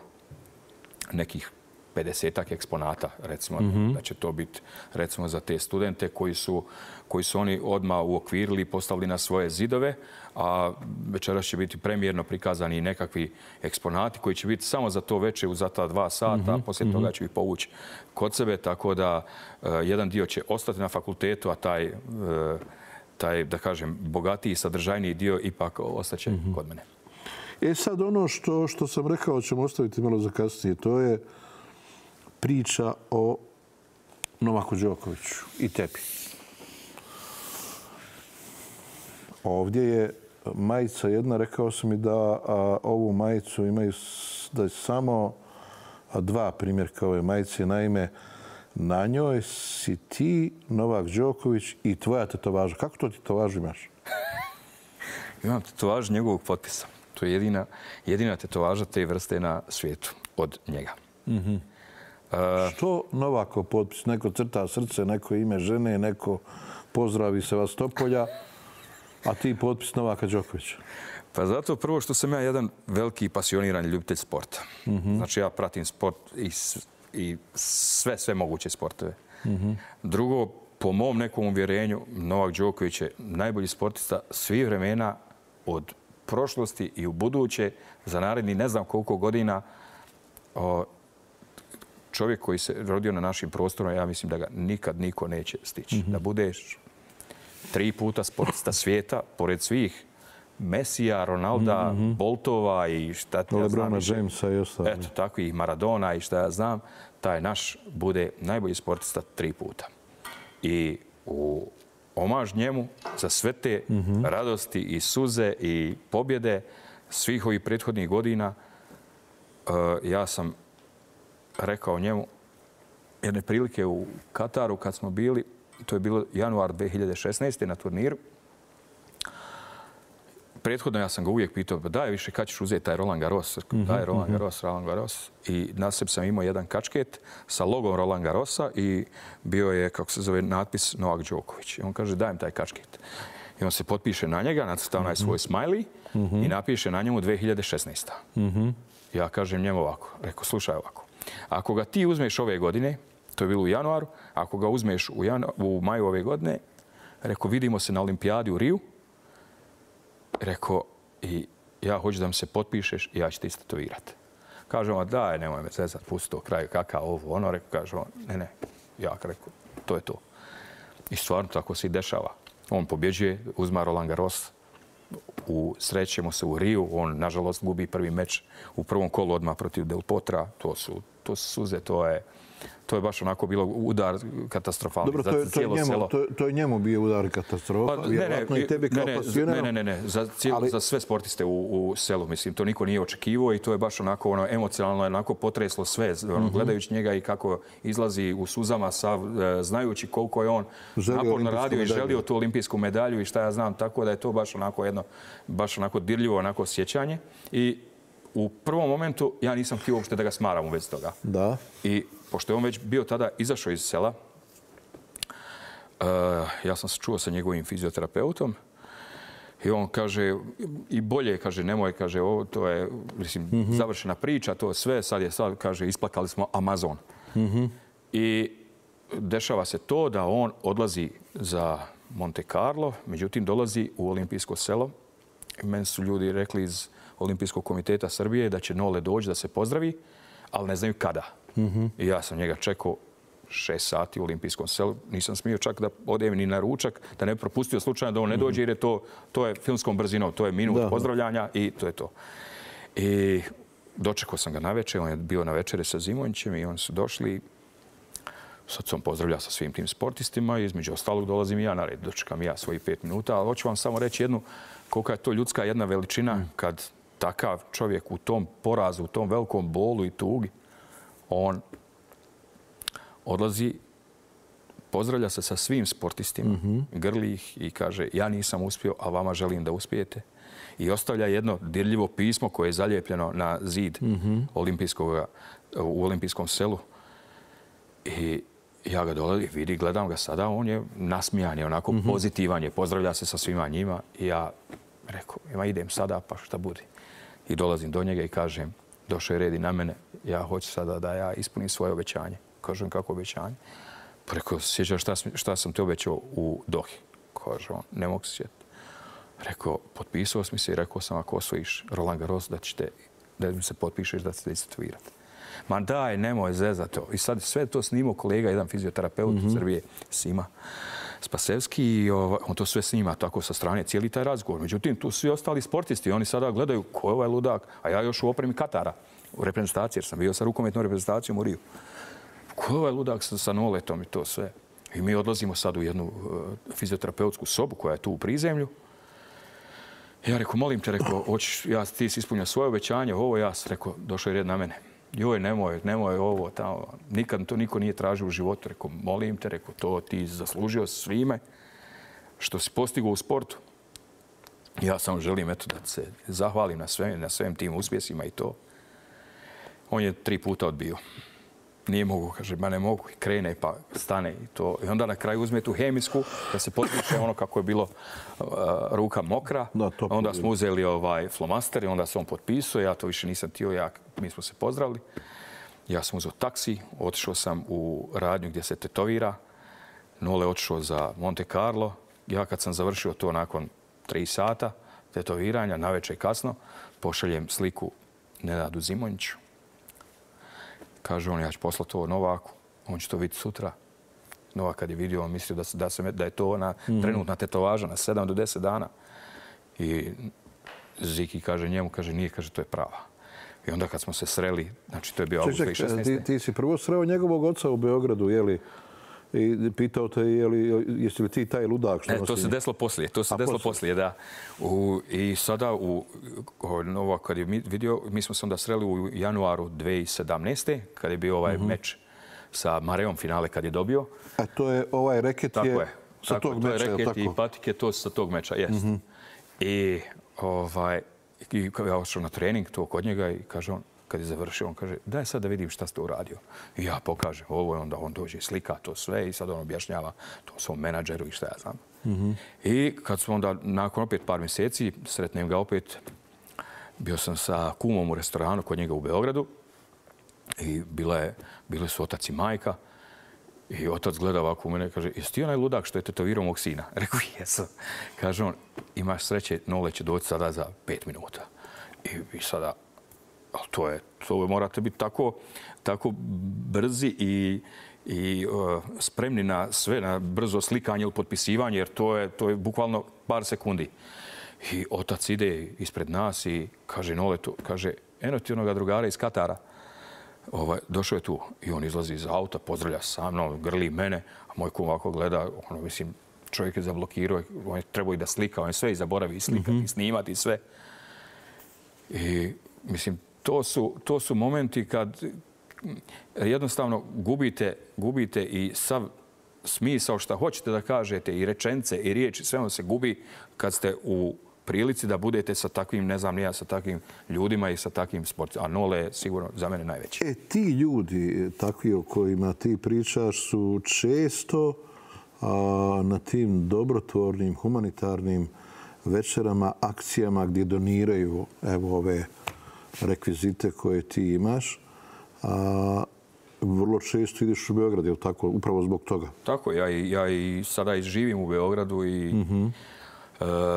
nekih pedesetak eksponata, recimo, mm-hmm. da će to biti, recimo, za te studente koji su, koji su oni odmah uokvirili i postavili na svoje zidove, a večeras će biti premijerno prikazani nekakvi eksponati koji će biti samo za to večer, za ta dva sata, mm-hmm. a poslije toga će ih povući kod sebe, tako da uh, jedan dio će ostati na fakultetu, a taj, uh, taj, da kažem, bogatiji i sadržajniji dio ipak ostaće mm-hmm. kod mene. E sad, ono što, što sam rekao ćemo ostaviti malo za kasnije, to je priča o Novaku Đokoviću i tebi. Ovdje je majica jedna, rekao sam mi da a, ovu majicu imaju da je samo dva primjerka ove majice. Naime, na njoj si ti, Novak Đoković i tvoja tetovaža. Kako to tetovažu imaš? Imam tetovažu njegovog potpisa. To je jedina, jedina tetovaža te vrste na svijetu od njega. Mm-hmm. Što Novako potpis? Neko crta srce, neko ime žene, neko pozdravi se vas Topolja, a ti potpis Novaka Đokovića. Pa zato prvo što sam ja jedan veliki pasionirani ljubitelj sporta. Mm-hmm. Znači ja pratim sport i, i sve, sve moguće sportove. Mm-hmm. Drugo, po mom nekom uvjerenju, Novak Đoković je najbolji sportista svih vremena od prošlosti i u buduće za naredni ne znam koliko godina. O, čovjek koji se rodio na našim prostorima, ja mislim da ga nikad niko neće stići. Mm-hmm. Da budeš tri puta sportista svijeta, pored svih Mesija, Ronalda, mm-hmm. Boltova i šta ti ja znam. Lebrona Jamesa i ostalo. Eto, tako i Maradona i šta ja znam. Taj naš bude najbolji sportista tri puta. I u omaž njemu za sve te mm-hmm. radosti i suze i pobjede svih ovih prethodnih godina, uh, ja sam rekao njemu jedne prilike u Kataru kad smo bili, to je bilo januar dvije hiljade šesnaeste. na turniru. Prethodno ja sam ga uvijek pitao, daj više kad ćeš uzeti taj Roland Garros, daj Roland Garros, Roland Garros. I na sebi sam imao jedan kačket sa logom Roland Garrosa i bio je, kako se zove, natpis Novak Đoković. I on kaže, daj mi taj kačket. I on se potpiše na njega, nacrta onaj svoj smiley i napiše na njemu dvije hiljade šesnaeste. Ja kažem njemu ovako, rekao, slušaj ovako. Ako ga ti uzmeš ove godine, to je bilo u januaru, ako ga uzmeš u, janu, u maju ove godine, rekao, vidimo se na olimpijadi u Riju, rekao, i ja hoću da mi se potpišeš i ja ću te istetovirati. Kaže on, daj, nemoj me zezat, pusti to kraj, kakav ovo, ono, rekao, kaže on, ne, ne, ja rekao, to je to. I stvarno tako se i dešava. On pobjeđuje, uzma Roland Garros, u, srećemo se u Riju, on nažalost gubi prvi meč u prvom kolu odmah protiv Del Potra, to su, to su suze, to je, To je baš onako bilo udar katastrofalni Dobro, za to je, to je cijelo njemu, selo. to, to je njemu bio udar katastrofa, Pa, vjerojatno i tebi kao ne, ne, pasioneru. ne, ne, ne, za, cijelo, Ali- za sve sportiste u, u selu. Mislim, to niko nije očekivao i to je baš onako ono, emocionalno onako potreslo sve. Ono, gledajući njega i kako izlazi u suzama, sav, e, znajući koliko je on Želio naporno olimpijsku radio i medalju. želio tu olimpijsku medalju i šta ja znam, tako da je to baš onako jedno, baš onako dirljivo onako sjećanje. I u prvom momentu ja nisam htio uopšte da ga smaram u vezi toga. Da. I pošto je on već bio tada izašao iz sela, uh, ja sam se čuo sa njegovim fizioterapeutom i on kaže, i bolje, kaže, nemoj, kaže, ovo, to je, mislim, mm-hmm. završena priča, to sve, sad je, sad, kaže, isplakali smo Amazon. Mm-hmm. I dešava se to da on odlazi za Monte Carlo, međutim, dolazi u olimpijsko selo. I meni su ljudi rekli iz Olimpijskog komiteta Srbije da će Nole doći da se pozdravi, ali ne znaju kada. Mm-hmm. I ja sam njega čekao šest sati u olimpijskom selu. Nisam smio čak da odem ni na ručak, da ne bi propustio slučajno da on ne dođe, jer je to, to je filmskom brzinom, to je minut Da. pozdravljanja i to je to. I dočekao sam ga na večer, on je bio na večere sa Zimonjićem i oni su došli. Sad sam pozdravlja sa svim tim sportistima i između ostalog dolazim i ja na red. Dočekam ja svojih pet minuta, ali hoću vam samo reći jednu, kolika je to ljudska jedna veličina kad takav čovjek u tom porazu, u tom velikom bolu i tugi, on odlazi, pozdravlja se sa svim sportistima, mm-hmm. grli ih i kaže ja nisam uspio, a vama želim da uspijete. I ostavlja jedno dirljivo pismo koje je zalijepljeno na zid mm-hmm. olimpijskog, u olimpijskom selu. I ja ga dolazim, vidi, gledam ga sada, on je nasmijan, je onako mm-hmm. pozitivan je, pozdravlja se sa svima njima i ja rekao, ima idem sada, pa šta bude. I dolazim do njega i kažem, došao je red i na mene, ja hoću sada da ja ispunim svoje obećanje. Kažem, kako obećanje? Pa rekao, sjećaš šta, šta sam te obećao u Dohi? Kaže on, ne mogu se sjetiti. Rekao, potpisao sam se i rekao sam, ako osvojiš Roland Garros, da, ćete, da mi se potpišeš da ćete istatuirati. Ma daj, nemoj zezat to. I sad sve to snimao kolega, jedan fizioterapeut mm-hmm. u Srbije, Sima Spasevski, i on to sve snima tako sa strane, cijeli taj razgovor. Međutim, tu svi ostali sportisti, oni sada gledaju ko je ovaj ludak, a ja još u opremi Katara, u reprezentaciji, jer sam bio sa rukometnom reprezentacijom u Riju. Ko je ovaj ludak sa, sa Noletom i to sve? I mi odlazimo sad u jednu uh, fizioterapeutsku sobu koja je tu u prizemlju. Ja rekao, molim te, rekao, hoćeš, ja, ti si ispunio svoje obećanje, ovo ja sam rekao, došao je red na mene. Joj, nemoj, nemoj ovo, tamo, nikad to niko nije tražio u životu. Rekao, molim te, rekao, to ti zaslužio svime što si postigao u sportu. Ja samo želim, eto, da se zahvalim na svem, na svem tim uspjesima i to. On je tri puta odbio. Nije mogu, kaže, ma ne mogu. I krene pa stane i to. I onda na kraju uzme tu hemijsku da se potpiše ono kako je bilo uh, ruka mokra. Da, to onda smo uzeli ovaj flomaster i onda se on potpisao. Ja to više nisam htio, ja, mi smo se pozdravili. Ja sam uzeo taksi, otišao sam u radnju gdje se tetovira. Nole otišao za Monte Carlo. Ja kad sam završio to nakon tri sata tetoviranja, navečer kasno, pošaljem sliku Nenadu Zimonjiću. Kaže on, ja ću poslati ovo Novaku, on će to vidjeti sutra. Novak kad je vidio, on mislio da, se, da, se, da je to ona mm-hmm. trenutna tetovaža na sedam do deset dana. I Ziki kaže njemu, kaže nije, kaže to je prava. I onda kad smo se sreli, znači to je bio avgust dvije tisuće šesnaeste. Ti, ti si prvo sreo njegovog oca u Beogradu, je li? I pitao te, je li, jesi li ti taj ludak što ne, nosi? To se desilo poslije, to se A, desilo poslije, da. U, I sada, u, Novak kad je vidio, mi smo se onda sreli u januaru dvije tisuće sedamnaeste. kad je bio ovaj uh-huh. meč sa Mareom finale kad je dobio. A to je ovaj reket tako je, je sa tako, tog to meča, je reket tako? i patike, to sa tog meča, jest. Uh-huh. I, ovaj, i ja ošao na trening to kod njega i kaže on, kad je završio, on kaže, daj sad da vidim šta ste uradio. I ja pokažem ovo, onda on dođe, slika to sve i sad on objašnjava to svom menadžeru i šta ja znam. Mm-hmm. I kad smo onda, nakon opet par mjeseci, sretnem ga opet, bio sam sa kumom u restoranu kod njega u Beogradu i bila je, bili su otac i majka. I otac gleda ovako u mene i kaže, jesi ti onaj ludak što je tetovirao mog sina? Rekao, jesam. Kaže on, imaš sreće, Nole će doći sada za pet minuta. I, i sada, ali to je, to morate biti tako, tako brzi i, i uh, spremni na sve, na brzo slikanje ili potpisivanje, jer to je, to je bukvalno par sekundi. I otac ide ispred nas i kaže, Nole, to, kaže, eno ti onoga drugara iz Katara. Ovaj, došao je tu i on izlazi iz auta, pozdravlja sa mnom, grli mene, a moj kum ovako gleda, ono, mislim, čovjek je zablokirao, on je trebao i da slika, on je sve i zaboravi i slikati, mm-hmm. i snimati i sve. I, mislim, to su, to su momenti kad jednostavno gubite, gubite i sav smisao šta hoćete da kažete, i rečenice, i riječi, sve ono se gubi kad ste u prilici da budete sa takvim, ne znam, nija, sa takvim ljudima i sa takvim sportom. A Nole je sigurno za mene najveći. E, ti ljudi, takvi o kojima ti pričaš, su često a, na tim dobrotvornim, humanitarnim večerama, akcijama gdje doniraju evo ove rekvizite koje ti imaš. A, vrlo često ideš u Beograd, je li tako? Upravo zbog toga. Tako, ja i, ja i sada i živim u Beogradu i mm-hmm.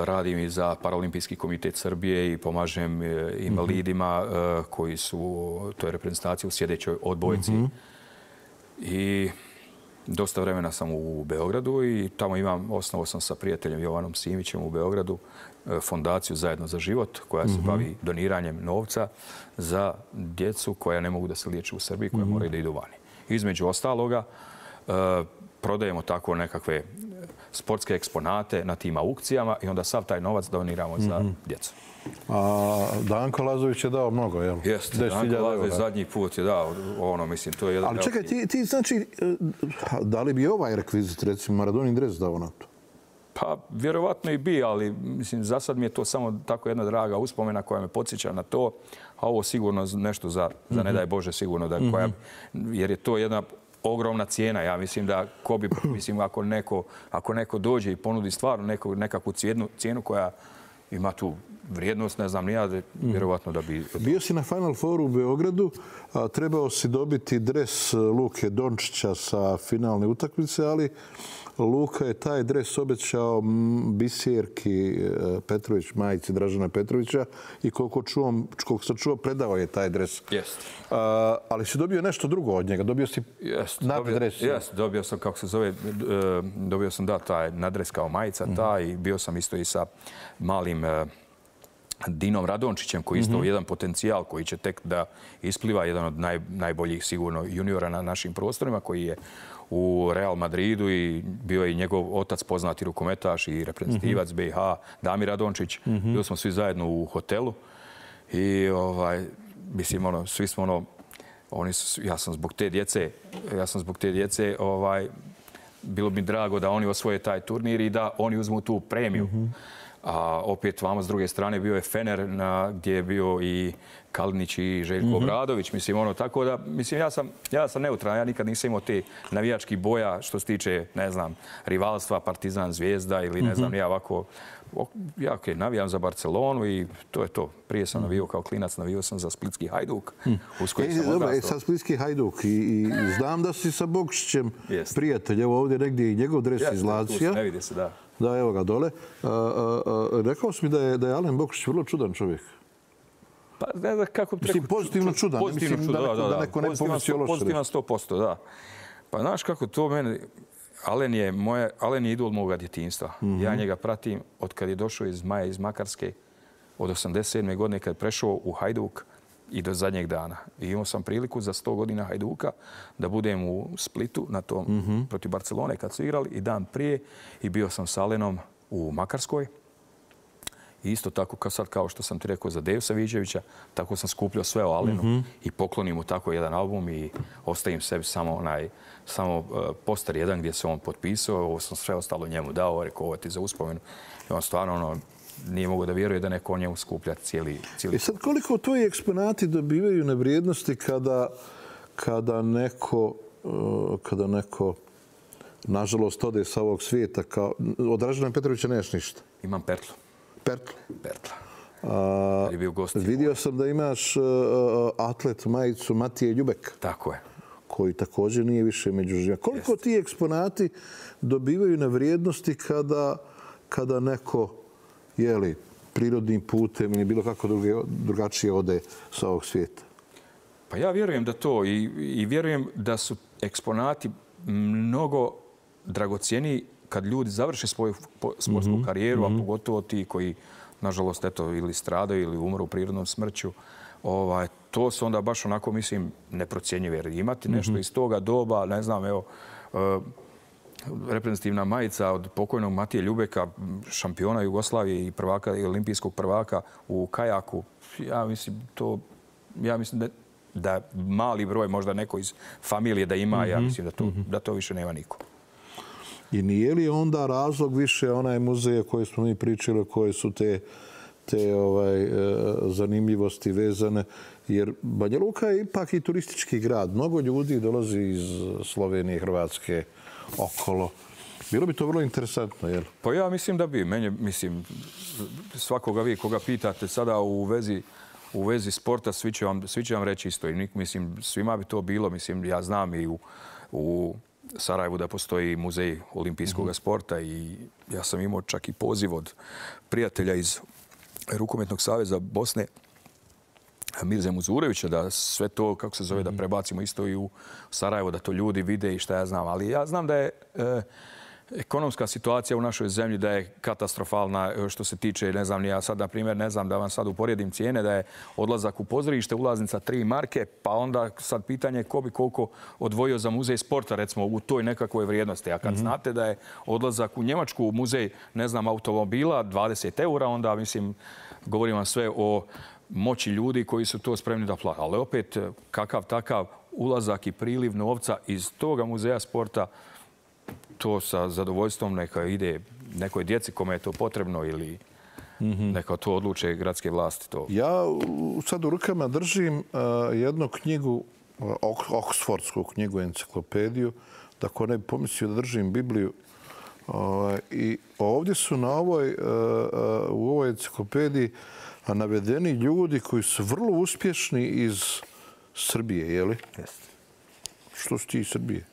radim i za Paralimpijski komitet Srbije i pomažem invalidima mm-hmm. koji su, to je reprezentacija u sjedećoj odbojci. Mm-hmm. I dosta vremena sam u Beogradu i tamo imam, osnovao sam sa prijateljem Jovanom Simićem u Beogradu fondaciju Zajedno za život koja se mm-hmm. bavi doniranjem novca za djecu koja ne mogu da se liječe u Srbiji, koja mm-hmm. moraju da idu vani. Između ostaloga, prodajemo tako nekakve sportske eksponate na tim aukcijama i onda sav taj novac doniramo mm-hmm. za djecu. A Danko Lazović je dao mnogo, jel? Jeste, Danko Lazović zadnji put je dao, ono, mislim, to je jedan... Ali čekaj, ti, ti znači, da li bi ovaj rekvizit, recimo, Maradonin dres dao na to? Pa, vjerovatno i bi, ali mislim, za sad mi je to samo tako jedna draga uspomena koja me podsjeća na to, a ovo sigurno nešto za, za ne daj Bože, sigurno, da, koja, jer je to jedna ogromna cijena. Ja mislim da ko bi, mislim, ako neko, ako neko dođe i ponudi stvarno neko, nekakvu cijenu, cijenu koja ima tu vrijednost, ne znam, nija, vjerovatno da bi... Bio si na Final Fouru u Beogradu, a trebao si dobiti dres Luke Dončića sa finalne utakmice, ali Luka je taj dres obećao Bisjerki Petrović, majici Dražana Petrovića, i koliko, čuvam, koliko sam čuo, predao je taj dres. Jest. A, ali si dobio nešto drugo od njega, dobio si jest, nadres. Jest, dobio sam, kako se zove, dobio sam, da, taj nadres kao majica, mm-hmm. ta, i bio sam isto i sa malim Dinom Radončićem, koji je isto mm-hmm. jedan potencijal koji će tek da ispliva, jedan od naj, najboljih sigurno juniora na našim prostorima, koji je u Real Madridu i bio je i njegov otac poznati rukometaš i reprezentativac mm-hmm. B i H, Damir Radončić. Mm-hmm. Bili smo svi zajedno u hotelu i ovaj, mislim, ono, svi smo ono, oni su, ja sam zbog te djece, ja sam zbog te djece, ovaj, bilo bi drago da oni osvoje taj turnir i da oni uzmu tu premiju. Mm-hmm. A opet vamo s druge strane bio je Fener na, gdje je bio i Kalinić i Željko mm-hmm. Obradović. Mislim, ono, tako da, mislim, ja sam, ja sam neutralan, ja nikad nisam imao te navijački boja što se tiče, ne znam, rivalstva, Partizan, Zvijezda ili ne znam, mm-hmm. ja ovako, ja okay, navijam za Barcelonu i to je to. Prije sam navijao kao klinac, navijao sam za Splitski Hajduk, mm. uz koji e, sam odrastao. E, sad Splitski Hajduk i, i znam da si sa Bokšićem prijatelj, evo ovdje negdje i njegov dres iz Lazija. Ne vidi se, da. Da, evo ga dole. A, a, a, rekao si mi da je, da je Alen Bokšić vrlo čudan čovjek. Pa ne znam kako... Mislim, pozitivno čudan. Pozitivno mislim, čudan, da, neko, da, da. da neko ne pomisli loše. Pozitivan sto posto, da. Pa znaš kako to mene... Alen je, moje, Alen je idol moga djetinjstva. Mm-hmm. Ja njega pratim od kad je došao iz Maja, iz Makarske, od osamdeset sedme godine kad je prešao u Hajduk i do zadnjeg dana. I imao sam priliku za sto godina Hajduka da budem u Splitu na tom mm-hmm. protiv Barcelone kad su igrali i dan prije i bio sam s Alenom u Makarskoj. I isto tako kao sad kao što sam ti rekao za Deju Saviđevića, tako sam skupljao sve o Alenu mm-hmm. i poklonim mu tako jedan album i ostavim sebi samo onaj samo poster jedan gdje se on potpisao, ovo sam sve ostalo njemu dao, rekao ovo ti za uspomenu. I on stvarno ono, nije mogu da vjeruje da neko o njemu skuplja cijeli... cijeli... I sad koliko tvoji eksponati dobivaju na vrijednosti kada, kada neko, kada neko nažalost ode sa ovog svijeta? Kao, od Dražana Petrovića nemaš ništa? Imam Pertlu. Pertla? Pertla. A, je bio gost vidio sam da imaš uh, atlet majicu Matije Ljubek. Tako je. Koji također nije više među živima. Koliko Jest. Ti eksponati dobivaju na vrijednosti kada, kada neko, jeli, prirodnim putem ili bilo kako druge, drugačije ode sa ovog svijeta? Pa ja vjerujem da to i, i vjerujem da su eksponati mnogo dragocjeniji kad ljudi završe svoju sportsku mm-hmm. karijeru, a pogotovo ti koji, nažalost, eto, ili stradaju ili umru prirodnom smrću. Ovaj, to su onda baš onako, mislim, neprocjenjive. Jer imati nešto iz toga doba, ne znam, evo, uh, reprezentativna majica od pokojnog Matije Ljubeka, šampiona Jugoslavije i prvaka, i olimpijskog prvaka u kajaku. Ja mislim, to, ja mislim da, da mali broj, možda neko iz familije da ima, ja mislim da to, da to više nema niko. I nije li onda razlog više onaj muzej koji smo mi pričali, koje su te, te ovaj, zanimljivosti vezane? Jer Banja Luka je ipak i turistički grad. Mnogo ljudi dolazi iz Slovenije, Hrvatske, okolo. Bilo bi to vrlo interesantno, jel? Pa ja mislim da bi. Meni, mislim, svakoga vi koga pitate sada u vezi, u vezi sporta, svi će vam, svi će vam reći isto. I mislim, svima bi to bilo. Mislim, ja znam i u, u Sarajevu da postoji muzej olimpijskog sporta i ja sam imao čak i poziv od prijatelja iz Rukometnog saveza Bosne, Mirze Muzurevića, da sve to, kako se zove, da prebacimo isto i u Sarajevo, da to ljudi vide i šta ja znam. Ali ja znam da je e, ekonomska situacija u našoj zemlji da je katastrofalna što se tiče, ne znam, ja sad, na primjer, ne znam da vam sad uporedim cijene, da je odlazak u pozorište, ulaznica tri marke, pa onda sad pitanje ko bi koliko odvojio za muzej sporta, recimo, u toj nekakvoj vrijednosti. A kad mm-hmm. znate da je odlazak u Njemačku u muzej, ne znam, automobila, dvadeset eura, onda, mislim, govorim vam sve o moći ljudi koji su to spremni da plate. Ali opet, kakav takav ulazak i priliv novca iz toga muzeja sporta, to sa zadovoljstvom neka ide nekoj djeci kome je to potrebno ili neka to odluče gradske vlasti. To. Ja sad u rukama držim jednu knjigu, oksfordsku knjigu, enciklopediju, da ko ne bi pomislio da držim Bibliju. I ovdje su na ovoj, u ovoj enciklopediji navedeni ljudi koji su vrlo uspješni iz Srbije, je li? Jeste. Što su ti iz Srbije?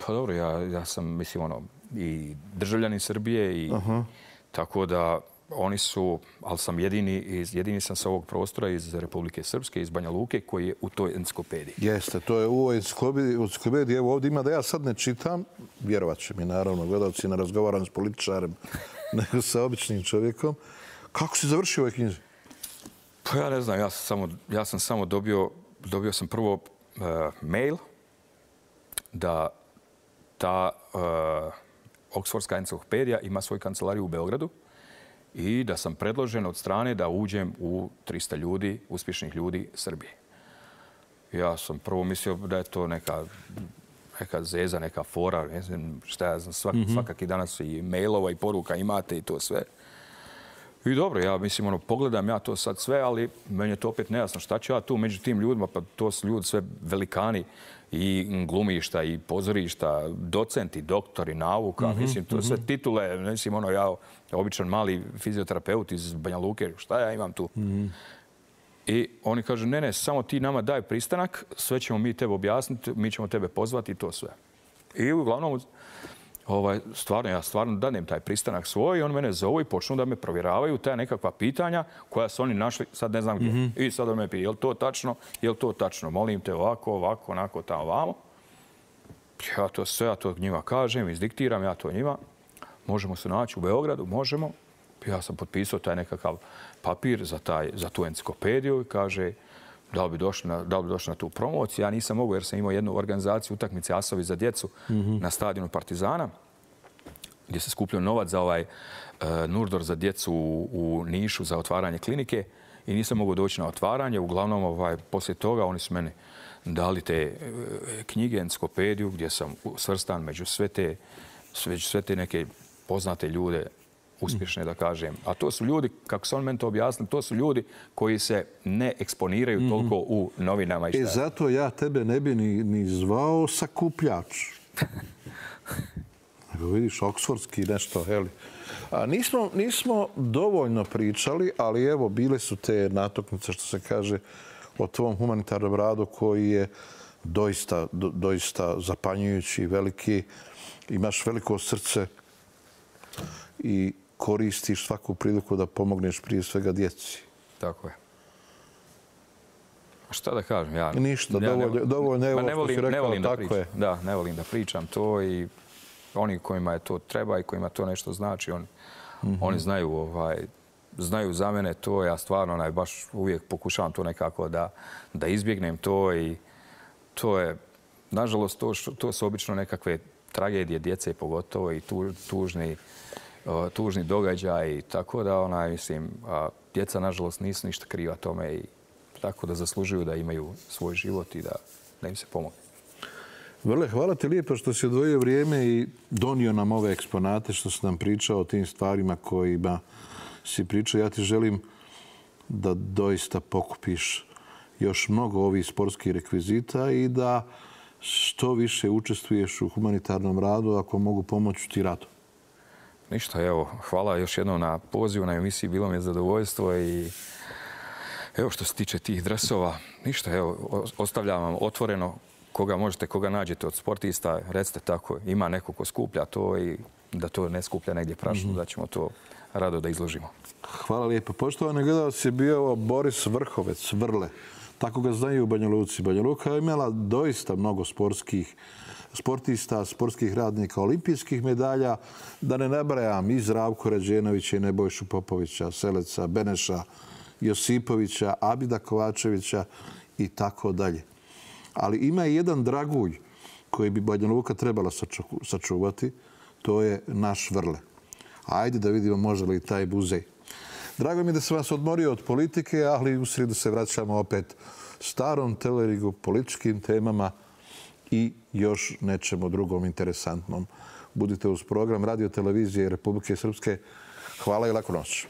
Pa dobro, ja, ja sam, mislim, ono, i državljani Srbije i uh-huh. tako da oni su, ali sam jedini, iz, jedini sam sa ovog prostora iz Republike Srpske, iz Banja Luke, koji je u toj enciklopediji. Jeste, to je u ovoj enciklopediji. Evo ovdje ima da ja sad ne čitam, vjerovat će mi naravno, gledalci, ne razgovaram s političarem, nego sa običnim čovjekom. Kako si završio ovoj knjizi? Pa ja ne znam, ja sam samo, ja sam samo dobio, dobio sam prvo uh, mail da ta uh, Oksfordska enciklopedija ima svoju kancelariju u Beogradu i da sam predložen od strane da uđem u trista ljudi, uspješnih ljudi Srbije. Ja sam prvo mislio da je to neka, neka zeza, neka fora, ne znam šta ja znam, svak, mm-hmm. svakaki danas i mailova i poruka imate i to sve. I dobro, ja mislim, ono, pogledam ja to sad sve, ali meni je to opet nejasno šta ću ja tu među tim ljudima, pa to su ljudi sve velikani i glumišta i pozorišta, docenti, doktori, nauka, mm-hmm, mislim, to mm-hmm. sve titule, mislim, ono, ja običan mali fizioterapeut iz Banja Luke, šta ja imam tu? Mm-hmm. I oni kažu, ne, ne, samo ti nama daj pristanak, sve ćemo mi tebe objasniti, mi ćemo tebe pozvati i to sve. I uglavnom, ovaj, stvarno, ja stvarno danem taj pristanak svoj i on mene zovu i počnu da me provjeravaju ta nekakva pitanja koja su oni našli, sad ne znam gdje. Mm-hmm. I sad on me pije, je li to tačno, je li to tačno, molim te ovako, ovako, onako, tamo, ovamo. Ja to sve, ja to njima kažem, izdiktiram, ja to njima. Možemo se naći u Beogradu, možemo. Ja sam potpisao taj nekakav papir za, taj, za tu enciklopediju i kaže da li bi došli na, da li bi došli na tu promociju. Ja nisam mogao jer sam imao jednu organizaciju utakmice Asovi za djecu mm-hmm. na stadionu Partizana gdje se skupljao novac za ovaj uh, Nurdor za djecu u, u Nišu za otvaranje klinike i nisam mogao doći na otvaranje. Uglavnom, ovaj, poslije toga oni su meni dali te uh, knjige, enciklopediju gdje sam svrstan među sve te, među sve te neke poznate ljude, uspješne, da kažem. A to su ljudi, kako se on meni to objasnili, to su ljudi koji se ne eksponiraju mm-hmm. toliko u novinama. I šta. E, zato ja tebe ne bi ni, ni zvao sakupljač. Nego vidiš, oksfordski nešto, heli. A nismo, nismo dovoljno pričali, ali evo, bile su te natuknice, što se kaže, o tvom humanitarnom radu koji je doista, do, doista zapanjujući, veliki. Imaš veliko srce i koristiš svaku priliku da pomogneš prije svega djeci. Tako je. A šta da kažem? Ja, Ništa, ja dovoljno, ne, dovoljno evo ne volim, što si rekao, ne volim tako da pričam. je. Da, ne volim da pričam to i oni kojima je to treba i kojima to nešto znači, on, mm-hmm. oni znaju ovaj, znaju za mene to, ja stvarno onaj, baš uvijek pokušavam to nekako da, da izbjegnem to i to je, nažalost, to, to su obično nekakve tragedije djece pogotovo i tu, tužni, uh, tužni događaj, tako da onaj, mislim, a, djeca nažalost nisu ništa kriva tome i tako da zaslužuju da imaju svoj život i da, da im se pomogne. Vrle, hvala ti lijepo što si odvojio vrijeme i donio nam ove eksponate, što si nam pričao o tim stvarima kojima si pričao. Ja ti želim da doista pokupiš još mnogo ovih sportskih rekvizita i da što više učestvuješ u humanitarnom radu, ako mogu pomoći ti radu. Ništa, evo, hvala još jednom na pozivu na emisiji, bilo mi je zadovoljstvo i evo što se tiče tih dresova, ništa, evo, ostavljam vam otvoreno koga možete, koga nađete od sportista, recite tako, ima neko ko skuplja to i da to ne skuplja negdje prašno, mm-hmm. da ćemo to rado da izložimo. Hvala lijepo. Poštovani gledalci, je bio Boris Vrhovec, Vrle. Tako ga znaju u Banja Luci. Banja Luka je imala doista mnogo sportskih sportista, sportskih radnika, olimpijskih medalja. Da ne nabrajam i Zdravko Rađenovića i Nebojšu Popovića, Seleca, Beneša, Josipovića, Abida Kovačevića i tako dalje. Ali ima i jedan dragulj koji bi Banja Luka trebala sačuvati. To je naš Vrle. Ajde da vidimo može li taj muzej. Drago mi je da sam vas odmorio od politike, ali u srijedu se vraćamo opet starom telerigu, političkim temama i još nečemu drugom interesantnom. Budite uz program Radio Televizije Republike Srpske. Hvala i laku noć.